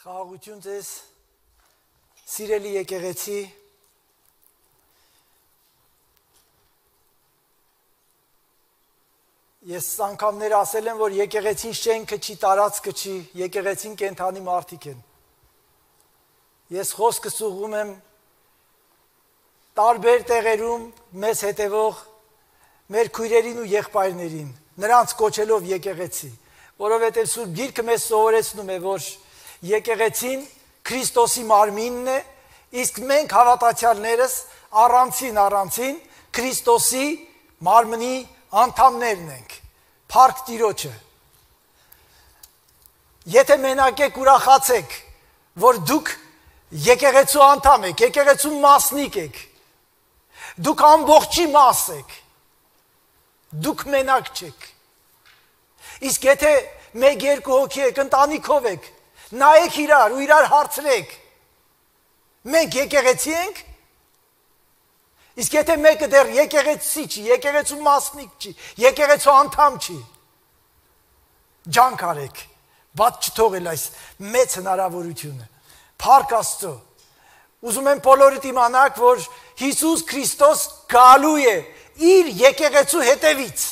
Խաղաղություն ձեզ, սիրելի եկեղեցի, ես անգամներ ասել եմ, որ եկեղեցին շենքը չի, տարածքը չի, եկեղեցին կենդանի մարդիկ են։ Ես խոսքս ուղղում եմ տարբեր տեղերում մեզ հետևող մեր քույրերին ու եղբայրներին, նրանց կոչելով եկեղեցի, որովհետև Սուրբ Գիրքը մեզ սովորեցնում է, որ եկեղեցին Քրիստոսի մարմինն է, իսկ մենք հավատացյալներս առանցին Քրիստոսի մարմնի անդամներն ենք, փառք Տիրոջը։ Եթե մենակ եք ուրախացեք, որ դուք եկեղեցու անդամ եք, եկեղեցու մասնիկ եք, դուք ամբողջի մաս եք, դուք մենակ չեք։ Իսկ եթե մեկ-երկու հոգի եք, ընտանիքով եք, նայեք իրար ու իրար հարցրեք, մենք եկեղեցի ենք, իսկ եթե մեկը դեռ եկեղեցի չի, եկեղեցու մասնիկ չի, եկեղեցու անդամ չի, ջանք արեք, բաց չթողել այս մեծ հնարավորությունը, փառք Աստծո, ուզում եմ բոլորդ իմանաք, որ Հիսուս Քրիստոս գալու է իր եկեղեցու հետևից,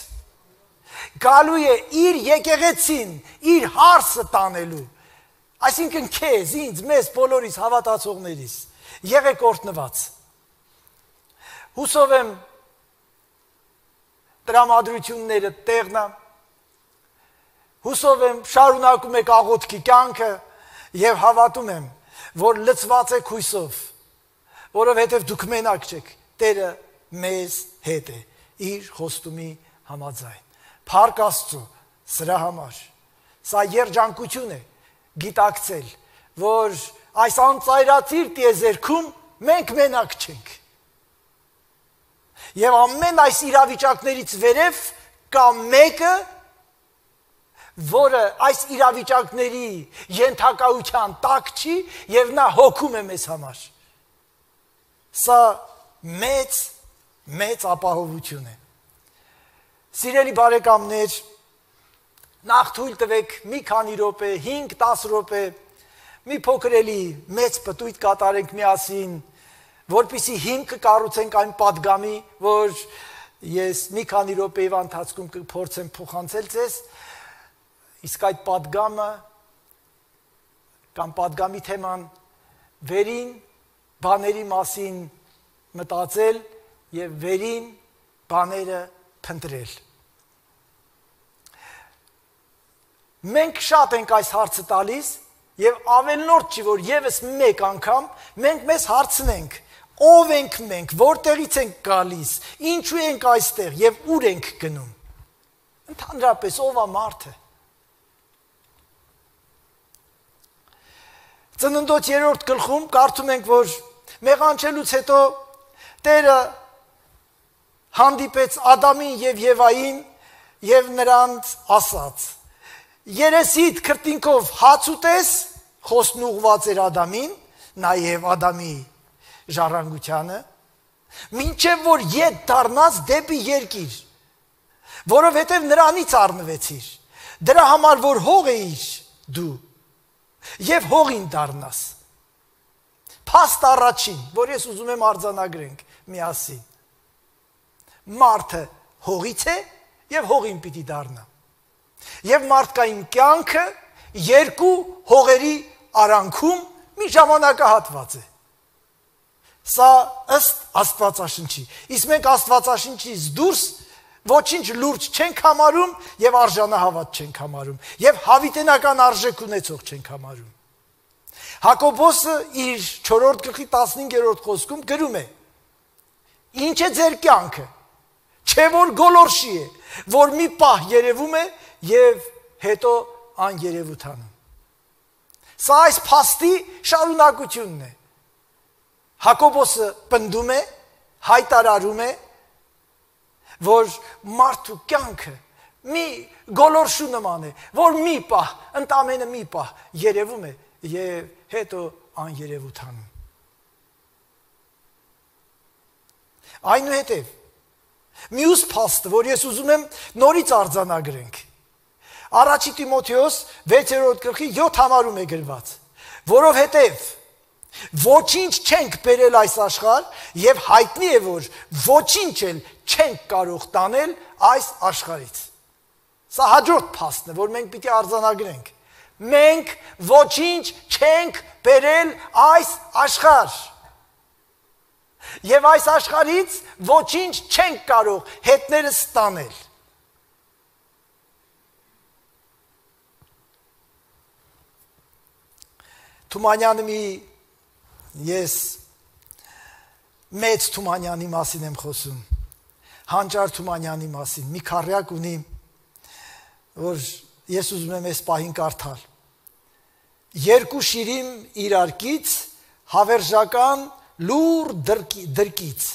գալու է իր եկեղեցին, իր հարսը տանելու, այսինքն քեզ, ինձ, մեզ բոլորիս հավատացողներիս, եղեք օրհնված։ Հուսով եմ տրամադրությունները տեղնա, հուսով եմ շարունակում եք աղոթքի կյանքը եւ հավատում եմ, որ լցված եք հույսով, որովհետև դուք մենակ չեք, Տերը մեզ հետ է, իր խոստումի համաձայն։ Փառք Աստծո սրա համար։ Սա երջանկություն է գիտակցել, որ այս անծայրածիր տիեզերքում մենք մենակ չենք։ Եվ ամեն այս իրավիճակներից վերև կա մեկը, որը այս իրավիճակների ենթակայության տակ չի եւ նա հոգում է մեզ համար։ Սա մեծ ապահովություն է։ Սիրելի բարեկամներ, նախ թույլ տվեք մի քանի րոպե, 5-10 րոպե, մի փոքր էլի մեծ պտույտ կատարենք միասին, որպեսզի հիմքը կառուցենք այն պատգամի, որ ես մի քանի րոպեի ընթացքում կփորձեմ փոխանցել ձեզ, իսկ այդ պատգամը կամ պատգամի թեման վերին բաների մասին մտածել եւ վերին բաները փնտրել։ Մենք շատ ենք այս հարցը տալիս եւ ավելնորդ չի, որ եւս մեկ անգամ մենք մեզ հարցնենք, ով ենք մենք, որտեղից ենք գալիս, ինչու ենք այստեղ եւ ուր ենք գնում։ Ընդհանրապես ով է մարդը։ Ծննդոց 3-րդ գլխում կարդում ենք, որ մեղանչելուց հետո Տերը հանդիպեց Ադամին եւ Եվային եւ նրանց ասաց. Երեսիդ քրտինքով հաց ուտես, խոսքն ուղղված էր Ադամին, նաեւ Ադամի ժառանգությանը, մինչև որ ետ դառնաս դեպի երկիր, որովհետև նրանից առնվեցիր, դրա համար որ հող էիր դու, եւ հողին դառնաս։ Փաստ առաջին, որ ես ուզում եմ արձանագրենք միասին։ Մարդը հողից է եւ հողին պիտի դառնա։ Եվ մարդկային կյանքը երկու հողերի արանքում մի ժամանակահատված է։ Սա ըստ Աստվածաշնչի։ Իսկ մենք Աստվածաշնչից դուրս ոչինչ լուրջ չենք համարում եւ արժանահավատ չենք համարում եւ հավիտենական արժեք ունեցող չենք համարում։ Հակոբոսը իր 4-րդ գլխի 15-րդ խոսքում գրում է. Ինչ է ձեր կյանքը, չէ որ գոլորշի է, որ մի պահ երևում է եւ հետո աներևութանում։ Սա այս փաստի շարունակությունն է։ Հակոբոսը պնդում է, հայտարարում է, որ մարդու կյանքը մի գոլորշու նման է, որ մի պահ, ընդամենը մի պահ երևում է եւ հետո աներևութանում։ Այնուհետև մյուս փաստը, որ ես ուզում եմ նորից արձանագրենք, Առաջի Տիմոթեոս 6-րդ գլխի 7 համարում է գրված, Որովհետև ոչինչ չենք բերել այս աշխարհ եւ հայտնի է որ ոչինչ էլ չենք կարող տանել այս աշխարհից։ Սա հաջորդ փաստն է, որ մենք պիտի արձանագրենք։ Մենք ոչինչ չենք բերել այս աշխարհ։ Եվ այս աշխարհից ոչինչ չենք կարող հետներս տանել։ Թումանյանը ես մեծ Թումանյանի մասին եմ խոսում, Հանճար Թումանյանի մասին, մի քառյակ ունի, որ ես ուզում եմ այս պահին կարդալ։ Երկու շիրիմ իրարքից, հավերժական լուր դրկից,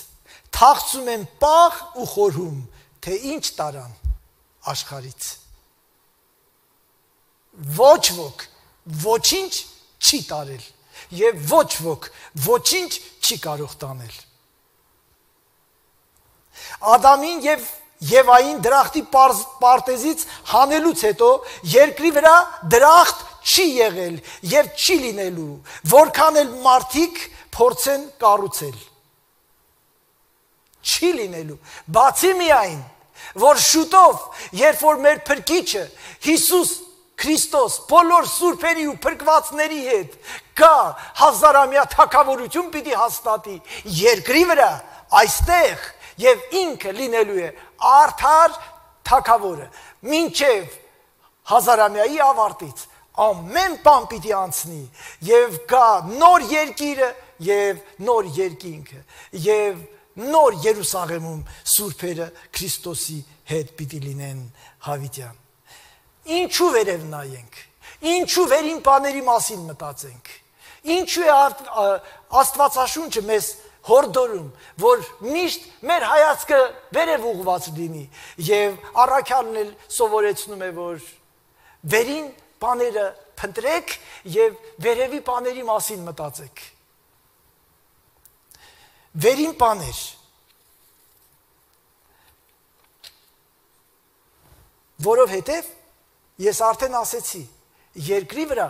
թաղցում են պաղ ու խորհում, թե ինչ տարան աշխարից։ Ոչ ոք, ոչինչ չի տարել և ոչ ոք ոչինչ չի կարող տանել։ Ադամին և Եվային դրախտի պարտեզից հանելուց հետո երկրի վրա դրախտ չի եղել և չի լինելու, որքան էլ մարդիկ փորձեն կառուցել։ Չի լինելու, բացի միայն, որ շուտով, երբ որ մեր փրկիչը Հիսուս Քրիստոս բոլոր սուրբերի ու փրկվածների հետ գա հազարամյա թագավորություն պիտի հաստատի երկրի վրա, այստեղ եւ ինքը լինելու է արդար թագավորը, մինչև հազարամյայի ավարտից ամեն բան պիտի անցնի եւ գա նոր երկիրը եւ նոր երկինքը եւ նոր Երուսաղեմում սուրբերը Քրիստոսի հետ պիտի լինեն հավիտյան։ Ինչու վերև նայենք, ինչու վերին բաների մասին մտածենք, ինչու է Աստվածաշունչը մեզ հորդորում, որ միշտ մեր հայացքը վերև ուղղված լինի եւ առաքյալն էլ սովորեցնում է, որ վերին բաները փնտրեք եւ վերևի բաների մասին մտածեք։ Վերին բաներ, որովհետեւ ես արդեն ասեցի, երկրի վրա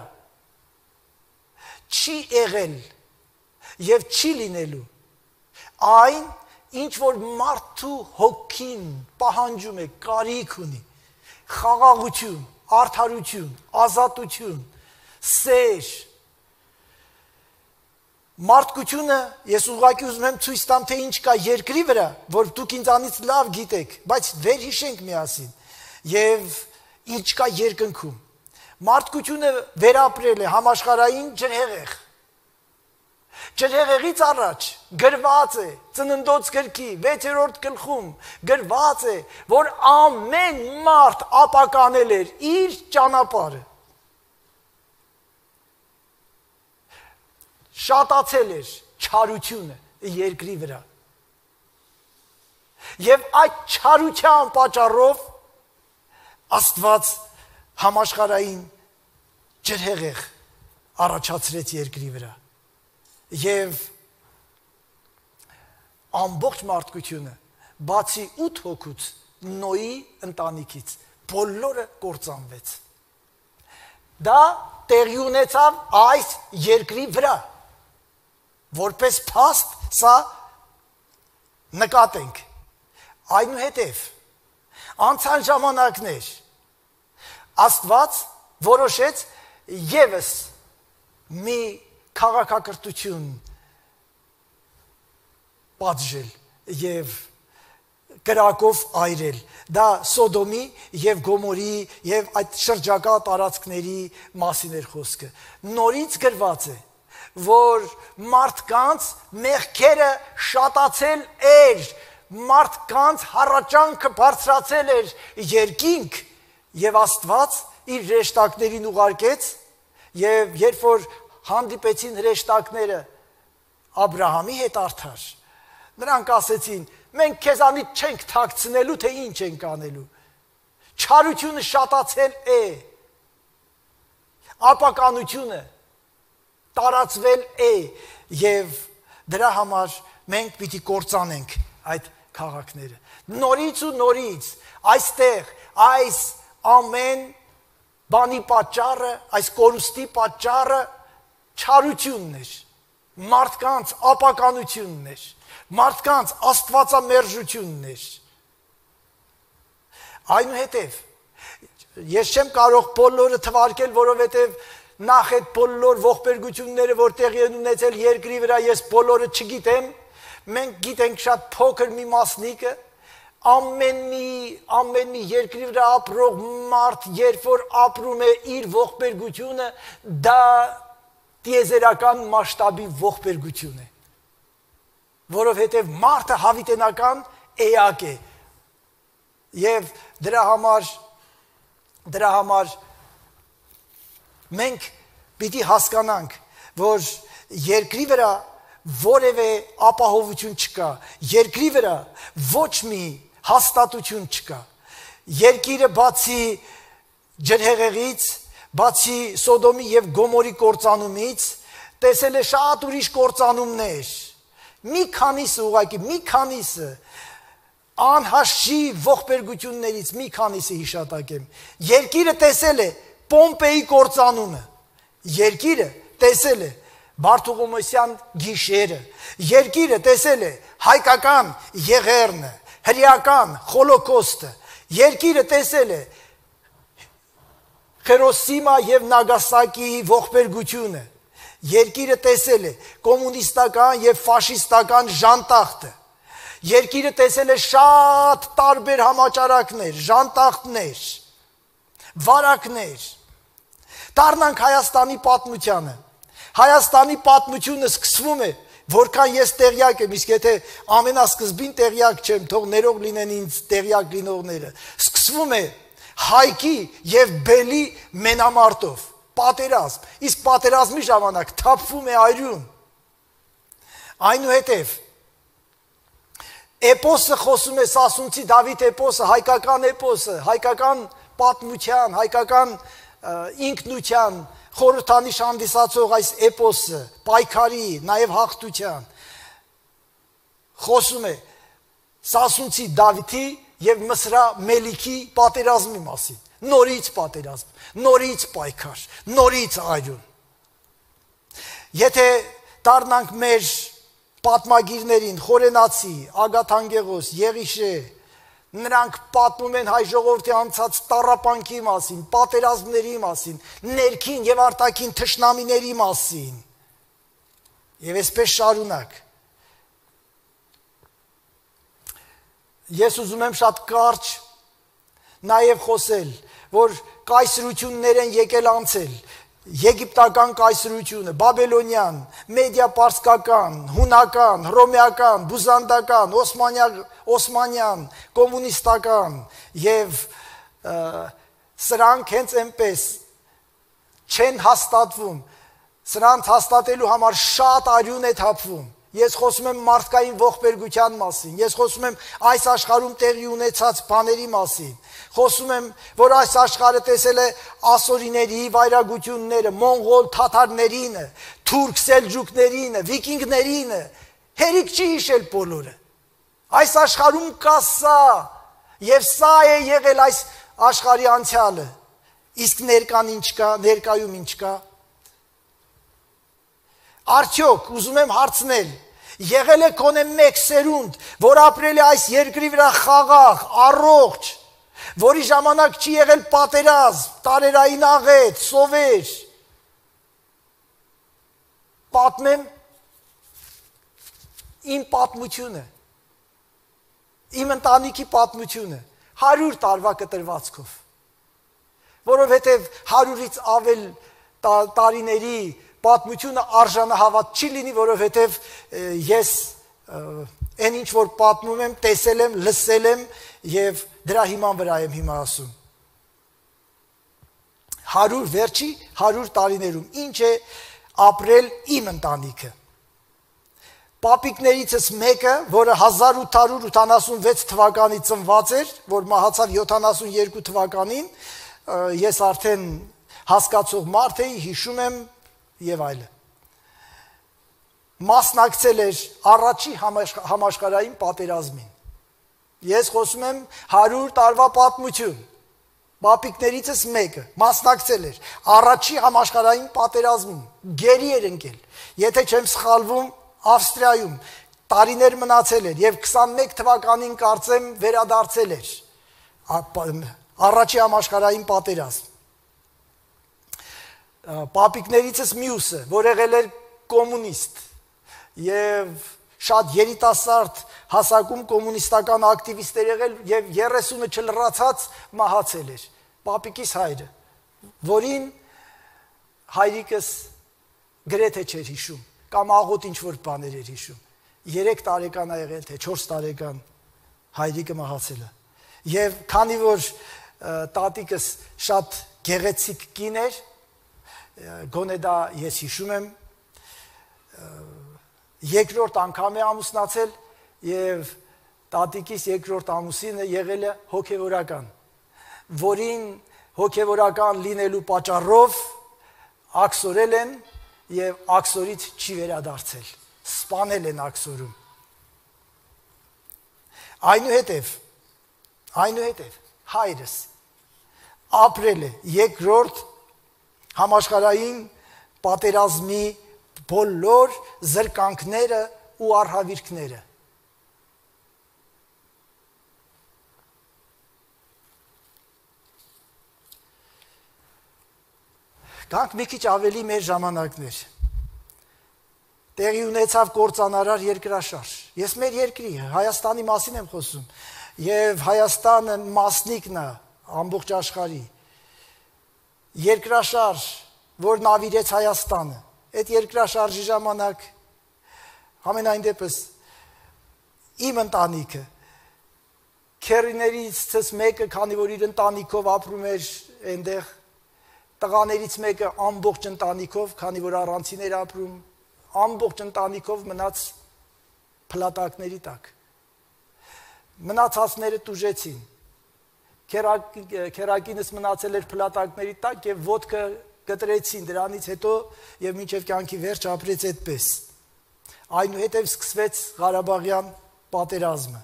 չի եղել և չի լինելու այն, ինչ որ մարդու հոգին պահանջում է, կարիք ունի, խաղաղություն, արդարություն, ազատություն, սեր, մարդկությունը, ես ուղղակի ուզում եմ ցույց տամ, թե ինչ կա երկրի վրա, որ դուք ինձանից լավ գիտեք, բայց վերհիշենք միասին և ինչ կա երկնքում։ Մարդկությունը վերապրել է համաշխարհային ջրհեղեղ։ Ջրհեղեղից առաջ գրված է Ծննդոց գրքի 6-րդ գլխում գրված է, որ ամեն մարդ ապականել էր իր ճանապարհը։ Շատացել էր չարությունը երկրի վրա։ Եվ այդ չարության պատճառով Աստված համաշխարհային ջրհեղեղ առաջացրեց երկրի վրա եւ ամբողջ մարդկությունը բացի 8 հոգուց Նոյի ընտանիքից բոլորը կործանվեց։ Դա տեղի ունեցավ այս երկրի վրա, որպես փաստ սա նկատենք։ Այնուհետև անցան ժամանակներ, Աստված որոշեց ևս մի քաղաքակրթություն պատժել եւ կրակով այրել։ Դա Սոդոմի եւ Գոմորի եւ այդ շրջակա տարածքների մասին էր խոսքը։ Նորից գրված է, որ մարդկանց մեղքերը շատացել էր, մարդկանց հառաճանքը բարձրացել էր երկինք եւ Աստված իր հրեշտակներին ուղարկեց եւ երբ որ հանդիպեցին հրեշտակները Աբրահամի հետ արդար, նրանք ասեցին. մենք քեզանից չենք թաքցնելու, թե ինչ ենք անելու։ Չարությունը շատացել է, ապականությունը տարածվել է եւ դրա համար մենք պիտի կործանենք այդ քաղաքները։ Նորից ու նորից այստեղ այս ամեն բանի պատճառը, այս կորուստի պատճառը չարությունն էր, մարդկանց ապականությունն էր, մարդկանց աստվածամերժությունն էր։ Այնուհետև ես չեմ կարող բոլորը թվարկել, որովհետև նախ այդ բոլոր ողբերգությունները, որ տեղի են ունեցել երկրի վրա, ես բոլորը չգիտեմ, մենք գիտենք շատ փոքր մի մասնիկը, ամեն մի երկրի վրա ապրող մարդ, երբ որ ապրում է իր ողբերգությունը, դա տիեզերական մասշտաբի ողբերգություն է, որովհետև մարդը հավիտենական էակ է, և դրա համար մենք պիտի հասկանանք, որ երկրի վրա որևէ ապահովություն չկա, երկրի վրա ոչ մի հաստատություն չկա, երկիրը բացի ջրհեղեղից, բացի Սոդոմի և Գոմորի կործանումից, տեսել է շատ ուրիշ կործանումներ, մի քանիսը, անհաշի ողբերգություններից մի քանիսը հիշատակեմ, երկիրը տեսել է Պոմպեի կործանումը, երկիրը տեսել է Բարթողոմեոսյան գիշերը, երկիրը տեսել է հայկական եղեռնը, հրեական խոլոկոստը, երկիրը տեսել է Հիրոսիմա և Նագասակիի ողբերգությունը, երկիրը տեսել է կոմունիստական և ֆաշիստական ժանտախտը, երկիրը տեսել է շատ տարբեր համաճարակներ, ժանտախտներ, վարակներ, դառնանք Հայաստանի պատմությանը, Հայաստանի պատմությունը սկսվում է, որքան ես տեղյակ եմ, իսկ եթե ամենասկզբին տեղյակ չեմ, թող ներող լինեն ինձ տեղյակ լինողները, սկսվում է Հայքի և Բելի մենամարտով, պատերազմ, իսկ պատերազմի ժամանակ թափվում է այրում, այնուհետև, էպոսը խոսում է Սասունցի Դավիթ էպոսը, հայկական պատմության, հայկական ինքնության, խորհրդանիշ հանդիսացող այս էպոսը, պայքարի, նաև հաղթության, խոսում է Սասունցի Դավիթի և Մսրա Մելիքի պատերազմի մասին, նորից պատերազմ, նորից պայքար, նորից այրում։ Եթե դառնանք մեր պատմագիրներին, Խորենացի, Ագաթանկեղոս, Եղիշե, նրանք պատմում են հայ ժողովրդի անցած տառապանքի մասին, պատերազմների մասին, ներքին և արտաքին թշնամիների մասին, և այսպես շարունակ։ Ես ուզում եմ շատ կարճ նաև խոսել, որ կայսրություններ են եկել անցել, եգիպտական կայսրությունը, բաբելոնյան, մեդիա-պարսկական, հունական, հռոմեական, բյուզանդական, օսմանյան, կոմունիստական և սրանք հենց այնպես չեն հաստատվում, սրանց հաստատելու համար շատ արյուն է թափվում, ես խոսում եմ մարդկային ողբերգության մասին, ես խոսում եմ այս աշխարհում տեղի ունեցած բաների մասին, խոսում եմ, որ այս աշխարհը տեսել է ասորիների վայրագությունները, մոնղոլ թաթարներինը, թուրք սելջուկներինը, վիկինգներինը, հերիք չի հիշել բոլորը, այս աշխարհում կա սա, և սա է եղել այս աշխարհի անցյալը, իսկ ներկայում ինչ կա, արդյոք, ուզում եմ հարցնել, եղել է կոնե մեկ սերունդ, որ ապրել է այս երկրի վրա խաղաղ, առողջ, որի ժամանակ չի եղել պատերազմ, տարերային աղետ, սովեր, պատմեմ իմ պատմությունը, իմ ընտանիքի պատմությունը, 100 տարվա կտրվածքով, որովհետև 100-ից ավել տարիների պատմությունը արժանահավատ չի լինի, որովհետև ես այն ինչ որ պատմում եմ, տեսել եմ, լսել եմ և դրա հիման վրա եմ հիմա ասում։ 100 տարիներում ինչ է ապրել իմ ընտանիքը։ Պապիկներիցս մեկը, որը 1886 թվականի ծնված էր, որ մահացավ 72 թվականին, ես արդեն հասկացող մարդ էի, հիշում եմ և այլը։ Մասնակցել էր առաջի համաշխարհային պատերազմին։ Ես խոսում եմ 100 տարվա պատմություն։ Պապիկներիցս մեկը մասնակցել էր առաջի համաշխարհային պատերազմում, գերի էր ընկել։ Եթե չեմ սխալվում, Ավստրիայում տարիներ մնացել էր եւ 21 թվականին կարծեմ վերադարձել էր առաջի համաշխարհային պատերազմ։ Պապիկներիցս մյուսը, որ եղել էր կոմունիստ եւ շատ երիտասարդ հասակում կոմունիստական ակտիվիստեր եղել եւ 30-ը չլրացած մահացել էր։ Պապիկիս հայրը, որին հայրիկս գրեթե չէր հիշում, կամ աղոտ ինչ-որ բաներ էր հիշում։ 3 տարեկան ա եղել, թե 4 տարեկան հայրիկը մահացել է։ Եվ քանի որ տատիկս շատ գեղեցիկ կին էր, գոնե դա ես հիշում եմ, երկրորդ անգամ է ամուսնացել եւ տատիկիս երկրորդ ամուսինը եղել է հոգեվորական, որին հոգեվորական լինելու պատճառով աքսորել են եւ աքսորից չի վերադարձել, սպանել են աքսորում։ Այնուհետև հայրս ապրել է երկրորդ համաշխարհային պատերազմի բոլոր զրկանքները ու արհավիրքները։ Գանք մի քիչ ավելի մեր ժամանակներ։ Տեղի ունեցավ կործանարար երկրաշարժ։ Ես մեր երկրի Հայաստանի մասին եմ խոսում, եւ Հայաստանը մասնիկն է ամբողջ աշխարհի։ Երկրաշարժ, որ նավիրեց Հայաստանը, այդ երկրաշարժի ժամանակ ամենայն դեպս իմ ընտանիքը քերիներիցս մեկը, քանի որ իր ընտանիքով ապրում էր այնտեղ, տղաներից մեկը ամբողջ ընտանիքով, քանի որ առանցին էր ապրում, ամբողջ ընտանիքով մնաց փլատակների տակ։ Մնացածները տուժեցին։ Քերակինս մնացել էր փլատակների տակ եւ ոտքը կտրեցին դրանից հետո եւ մինչեւ կյանքի վերջ ապրեց այդպես։ Այնուհետև սկսվեց Ղարաբաղյան պատերազմը։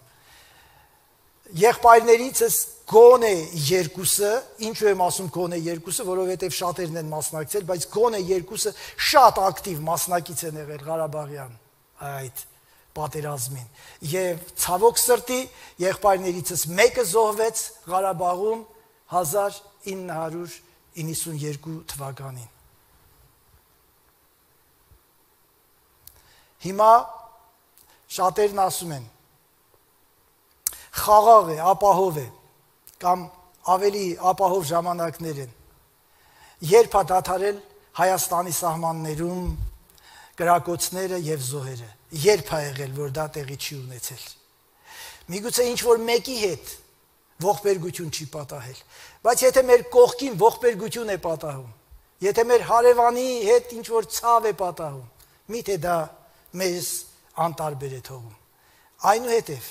Եղբայրներիցս գոնե երկուսը, ինչու եմ ասում գոնե երկուսը, որովհետև շատերն են մասնակցել, բայց գոնե երկուսը շատ ակտիվ մասնակից են եղել Ղարաբաղյան այդ պատերազմին։ Եվ ցավոք սրտի եղբայրներիցս մեկը զոհվեց Ղարաբաղում 1992 թվականին։ Հիմա շատերն ասում են խաղաղ է, ապահով է, կամ ավելի ապահով ժամանակներ են։ Երբ է դադարել Հայաստանի սահմաններում կրակոցները եւ զոհերը, երբ է եղել, որ դա տեղի չի ունեցել։ Միգուցե ինչ-որ մեկի հետ ողբերգություն չի պատահել, բայց եթե մեր կողքին ողբերգություն է պատահում, եթե մեր հարևանի հետ ինչ-որ ցավ է պատահում, միթե դա մեզ անտարբեր է թողում։ Այնուհետև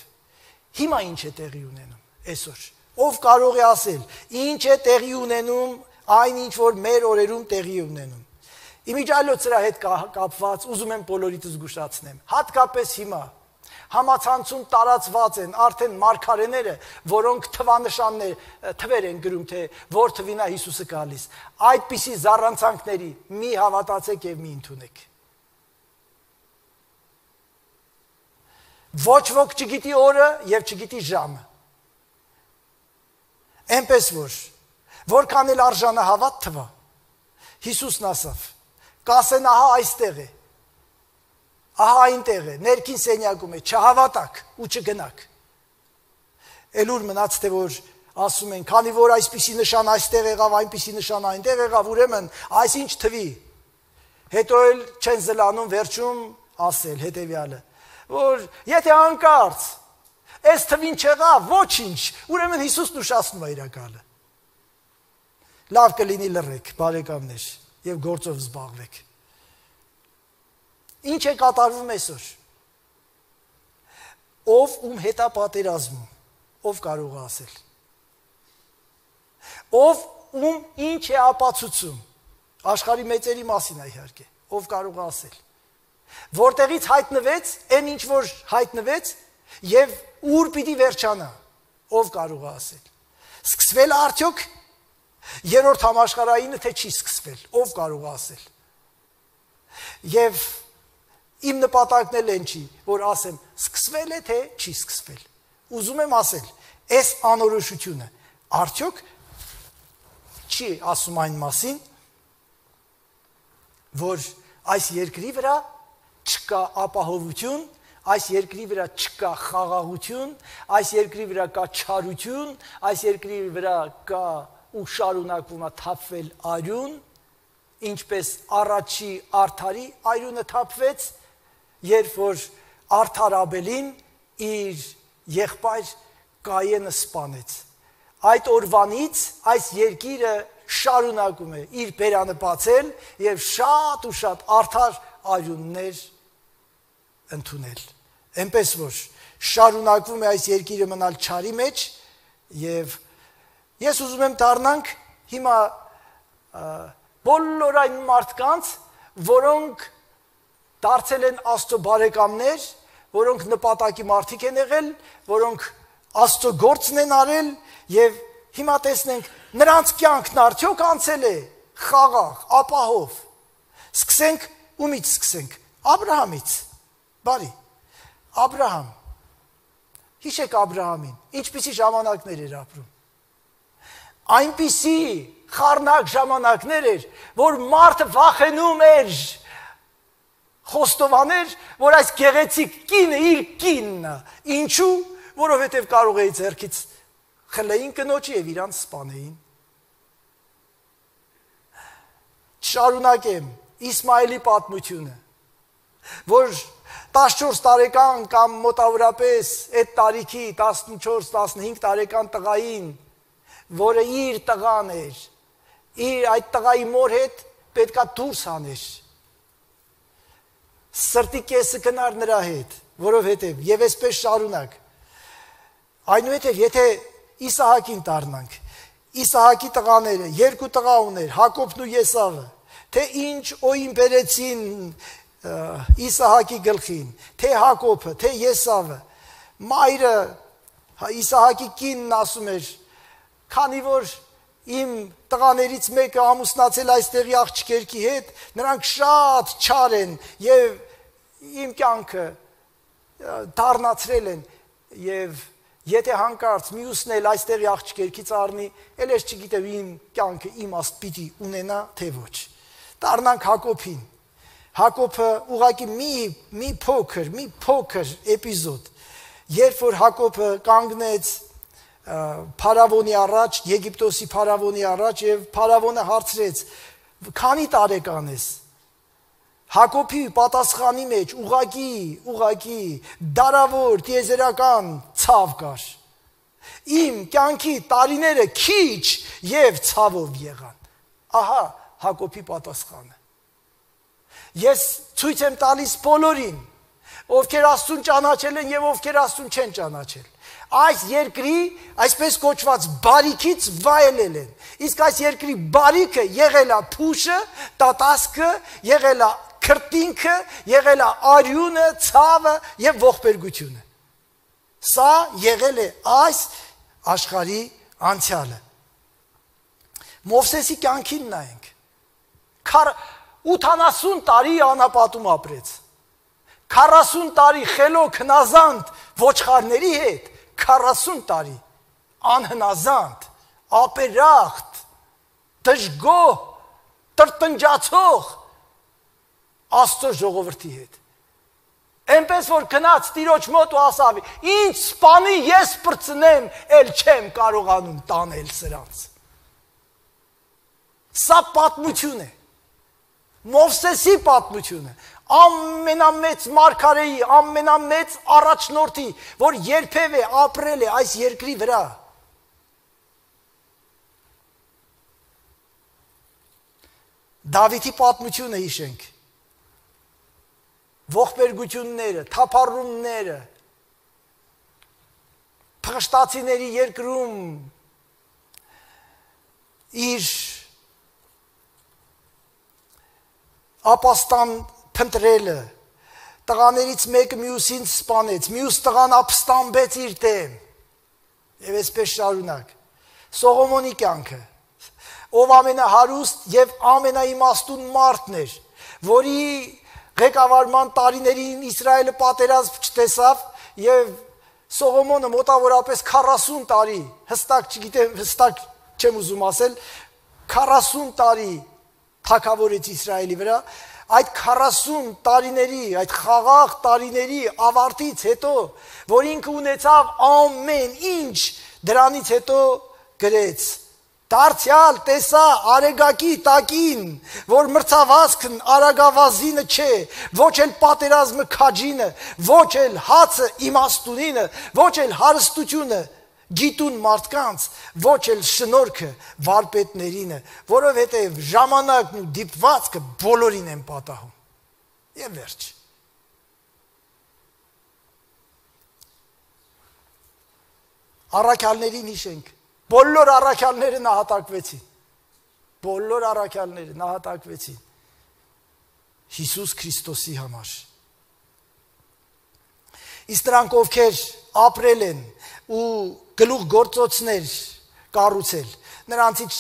հիմա ինչ է տեղի ունենում այսօր։ Ով կարող է ասել, ինչ է տեղի ունենում այն ինչ որ մեր օրերում տեղի է ունենում։ Իմիջիայլոց սրա հետ կապված ուզում եմ բոլորիդ զգուշացնեմ։ Հատկապես հիմա համացանցում տարածված են արդեն մարգարեները, որոնք թվեր են գրում, թե որ թվին է Հիսուսը գալիս։ Այդպիսի զառանցանքների մի հավատացեք եւ մի ընդունեք։ Ոչ ոք չգիտի օրը եւ չգիտի ժամը։ Էնպես որքան էլ արժանահավատ թվա, Հիսուսն ասավ, կասեն ահա այստեղ է, ահա այնտեղ է, ներքին սենյակում է, չհավատակ ու չգնաք։ Էլուր մնաց թե որ ասում են, քանի որ այսպիսի նշան այստեղ եղավ, այնպիսի նշան այնտեղ եղավ, ուրեմն այսինչ թվի։ Հետո էլ չեն զլանում վերջում ասել հետևյալը, որ եթե անկարծ այս թվին չեղավ, ոչինչ, ուրեմն Հիսուսն ուշացնում է իրակալը։ Լավ կլինի լռեք, բարեկամներ, եւ գործով զբաղվեք։ Ինչ է կատարվում այսօր։ Ով ում հետ է պատերազմում, ով կարող է ասել։ Ով ում ինչ է ապացուցում, աշխարհի մեծերի մասին է իհարկե, ով կարող է ասել։ Որտեղից հայտնվեց, այն ինչ որ հայտնվեց, եւ ուր պիտի վերջանա, ով կարող է ասել։ Սկսվել արդյոք Երրորդ համաշխարհայինը թե չի սկսվել, ով կարող է ասել։ Եվ իմ նպատակն էլ են չի, որ ասեմ, սկսվել է թե չի սկսվել։ Ուզում եմ ասել, այս անորոշությունը արդյոք չի ասում այն մասին, որ այս երկրի վրա չկա ապահովություն, այս երկրի վրա չկա խաղաղություն, այս երկրի վրա կա չարություն, այս երկրի վրա կա ու շարունակվում է թափվել արյուն, ինչպես առաջի Արթարի արյունը թափվեց, երբ որ Արթար Աբելին իր եղբայր Կայենը սպանեց։ Այդ օրվանից այս երկիրը շարունակում է իր բերանը բացել եւ շատ ու շատ արդար արյուններ ընդունել։ Այնպես որ շարունակվում է այս երկիրը մնալ չարի մեջ եւ ես ուզում եմ դառնանք հիմա բոլոր այն մարդկանց, որոնք դարձել են Աստծո բարեկամներ, որոնք նպատակի մարդիկ են եղել, որոնք Աստծո գործն են արել եւ հիմա տեսնենք նրանց կյանքն արդյոք անցել է խաղաղ, ապահով։ Սկսենք ումից սկսենք։ Աբրահամից։ Բարի։ Աբրահամ։ Հիշեք Աբրահամին, ինչպիսի ժամանակներ էր ապրում։ Այնպիսի խառնակ ժամանակներ էր, որ մարդը վախենում էր խոստովաներ, որ այս գեղեցիկ կինը իր կինն է։ Ինչու? Որովհետև կարող էի ձեռքից խլեին կնոջը եւ իրանց սպանեին։ Շարունակեմ Իսմայելի պատմությունը, որ 14 տարեկան կամ մոտավորապես այդ տարիքի 14-15 տարեկան տղային, որը իր տղան էր, իր այդ տղայի մոր հետ պետքա դուրս հաներ։ Սրտի կեսը գնար նրա հետ, որովհետև եւ այսպես շարունակ։ Այնուհետև եթե Իսահակին դառնանք, Իսահակի տղաները, երկու տղա ուներ, Հակոբն ու Եսավը, թե ինչ օին բերեցին Իսահակի գլխին, թե Հակոբը, թե Եսավը, մայրը Իսահակի կինն ասում էր, քանի որ իմ տղաներից մեկը ամուսնացել այստեղի աղջիկերքի հետ, նրանք շատ չար են եւ իմ կյանքը դառնացրել են եւ եթե հանկարծ մյուսն էլ այստեղի աղջիկերքից առնի, էլ ես չգիտեմ իմ կյանքը իմաստ պիտի ունենա թե ոչ։ Դառնանք Հակոբին։ Հակոբը ուղղակի մի փոքր էպիզոդ, երբ որ Հակոբը կանգնեց Փարավոնի առաջ, Եգիպտոսի Փարավոնի առաջ եւ Փարավոնը հարցրեց. «Քանի տարեկան ես»։ Հակոբի պատասխանի մեջ ուղղակի դարավոր տիեզերական ցավ կար։ Իմ կյանքի տարիները քիչ եւ ցավով եղան։ Ահա Հակոբի պատասխանը։ Ես ցույց եմ տալիս բոլորին, ովքեր Աստծուն ճանաչել են եւ ովքեր Աստծուն չեն ճանաչել։ Այս երկրի այսպես կոչված բարիքից վայելել են։ Իսկ այս երկրի բարիքը եղել է փուշը, տատասկը, եղել է քրտինքը, եղել է արյունը, ցավը եւ ողբերգությունը։ Սա եղել է այս աշխարհի անցյալը։ Մովսեսի կյանքին նայենք։ 80 տարի անապատում ապրեց։ 40 տարի խելոք հնազանդ ոչխարների հետ, 40 տարի անհնազանդ, ապերախտ, դժգոհ, տրտնջացող Աստծո ժողովրդի հետ։ Այնպես որ գնաց Տիրոջ մոտ ու ասավ. «Ինչ սպանի ես բրցնեմ, էլ չեմ կարողանում տանել սրանց»։ Սա պատմություն է։ Մովսեսի պատմությունը, ամենամեծ մարգարեի, ամենամեծ առաջնորդի, որ երբևէ ապրել է այս երկրի վրա։ Դավիթի պատմությունը հիշենք։ Ողբերգությունները, թափառումները, փղշտացիների երկրում իր ապաստան փնտրելը, տղաներից մեկը մյուսին սպանեց, մյուս տղան ապստամբեց իր դեմ, եւ այսպես շարունակ։ Սողոմոնի կյանքը, ով ամենահարուստ եւ ամենաիմաստուն մարդն էր, որի ղեկավարման տարիներին Իսրայելը պատերազմ չտեսավ եւ Սողոմոնը մոտավորապես 40 տարի, հստակ չգիտեմ, հստակ չեմ ուզում ասել, 40 տարի թագավորեց Իսրայելի վրա, այդ 40 տարիների, այդ խաղաղ տարիների ավարտից հետո, որ ինքը ունեցավ ամեն ինչ, դրանից հետո գրեց. Դարձյալ տեսա արեգակի տակին, որ մրցավազքն արագավազինը չէ, ոչ էլ պատերազմը քաջինը, ոչ էլ հացը իմաստունինը, ոչ էլ հարստությունը գիտուն մարդկանց, ոչ էլ շնորհքը վարպետներինը, որովհետև ժամանակն ու դիպվածքը բոլորին են պատահում։ Եվ վերջ։ Առաքյալներին հիշենք, բոլոր առաքյալները նահատակվեցին, բոլոր առաքյալները նահատակվեցին Հիսուս Քրիստոսի համար։ Իսկ նրանք, ովքեր ապրել են ու գլուխ գործոցներ կառուցել, նրանցից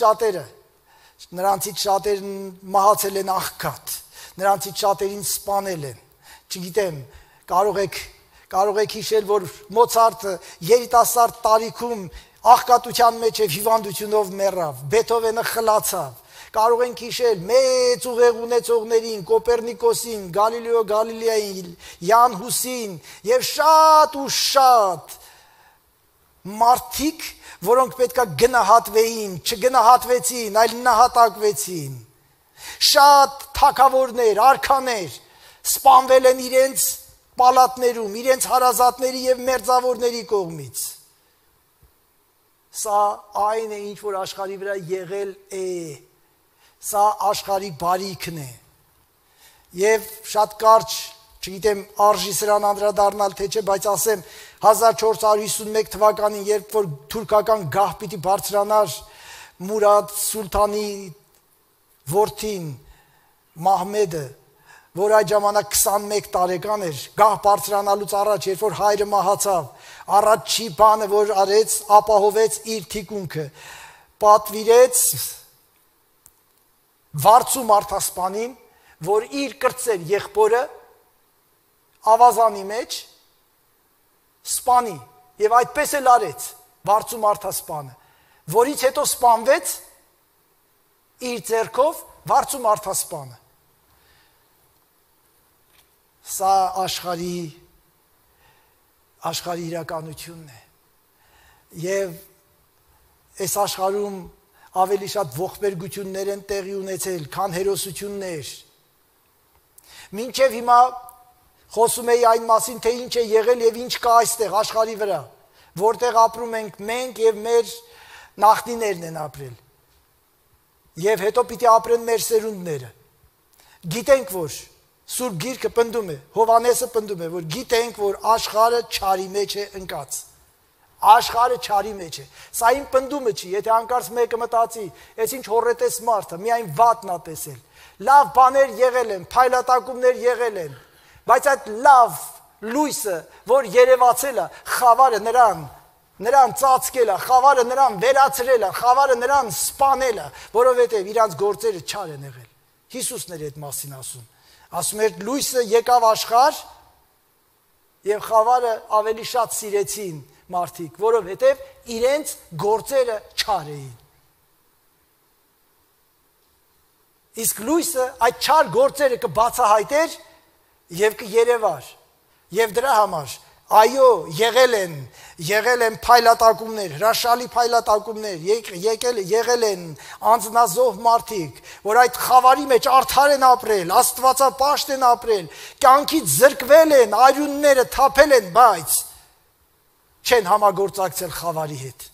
շատերն մահացել են աղքատ, նրանցից շատերին սպանել են, չգիտեմ, կարող եք հիշել, որ Մոցարտը երիտասարդ տարիքում աղքատության մեջ եւ հիվանդությունով մեռավ, Բեթհովենը խլացավ, կարող ենք հիշել մեծ ուղեղ ունեցողներին, Կոպերնիկոսին, Գալիլեո Գալիլեային, Յան Հուսին եւ շատ ու շատ մարդիկ, որոնք պետքա գնահատվեին, չգնահատվեցին, այլ նահատակվեցին։ Շատ թագավորներ, արքաներ սպանվել են իրենց պալատներում, իրենց հարազատների եւ մերձավորների կողմից։ Սա այն է, ինչ որ աշխարհի վրա եղել է, սա աշխարհի բարիքն է։ Եվ շատ կարճ, չգիտեմ, արժի սրան անդրադառնալ թե չէ, բայց ասեմ 1451 թվականին, երբ որ թուրքական գահ պիտի բարձրանար Մուրադ Սուլթանի որդին Մահմեդը, որ այդ ժամանակ 21 տարեկան էր, գահ բարձրանալուց առաջ, երբ որ հայրը մահացավ, առաջի բանը, որ արեց, ապահովեց իր թիկունքը, պատվիրեց վարձու մարդասպանին, որ իր կրտսեր եղբորը ավազանի մեջ սպանի, եւ այդպես էլ արեց վարձու մարդասպանը, որից հետո սպանվեց իր ձեռքով վարձու մարդասպանը։ Սա աշխարհի իրականությունն է։ Եվ այս աշխարհում ավելի շատ ողբերգություններ են տեղի ունեցել, քան հերոսություններ։ Մինչև հիմա խոսում էի այն մասին, թե ինչ է եղել եւ ինչ կա այստեղ աշխարհի վրա, որտեղ ապրում ենք մենք եւ մեր նախնիներն են ապրել։ Եվ հետո պիտի ապրեն մեր սերունդները։ Գիտենք, որ Սուրբ Գիրքը պնդում է, Հովհաննեսը պնդում է, որ գիտենք, որ աշխարհը չարի մեջ է ընկած։ Աշխարհը չարի մեջ է։ Սա իմ պնդումը չի, եթե անկարծ մեկը մտածի, այս ինչ հորետես մարդը, միայն վատն է տեսել։ Լավ բաներ եղել են, փայլատակումներ եղել են, բայց այդ լավ լույսը, որ երևացել է, խավարը նրան ծածկել է, խավարը նրան վերացրել է, խավարը նրան սպանել է, որովհետև իրանց գործերը չար են եղել։ Հիսուսն էր այդ մասին ասում։ Ասում էր լույսը եկավ աշխարհ եւ խավարը ավելի շատ սիրեցին մարդիկ, որովհետեւ իրենց գործերը չար էին։ Իսկ լույսը այդ չար գործերը կբացահայտեր եւ կերևար։ Եվ դրա համար այո, եղել են փայլատակումներ, հրաշալի փայլատակումներ, եղել են անձնազոհ մարդիկ, որ այդ խավարի մեջ արդար են ապրել, աստվածապաշտ են ապրել, կյանքից զրկվել են, արյունները թափել են, բայց չեն համագործակցել խավարի հետ։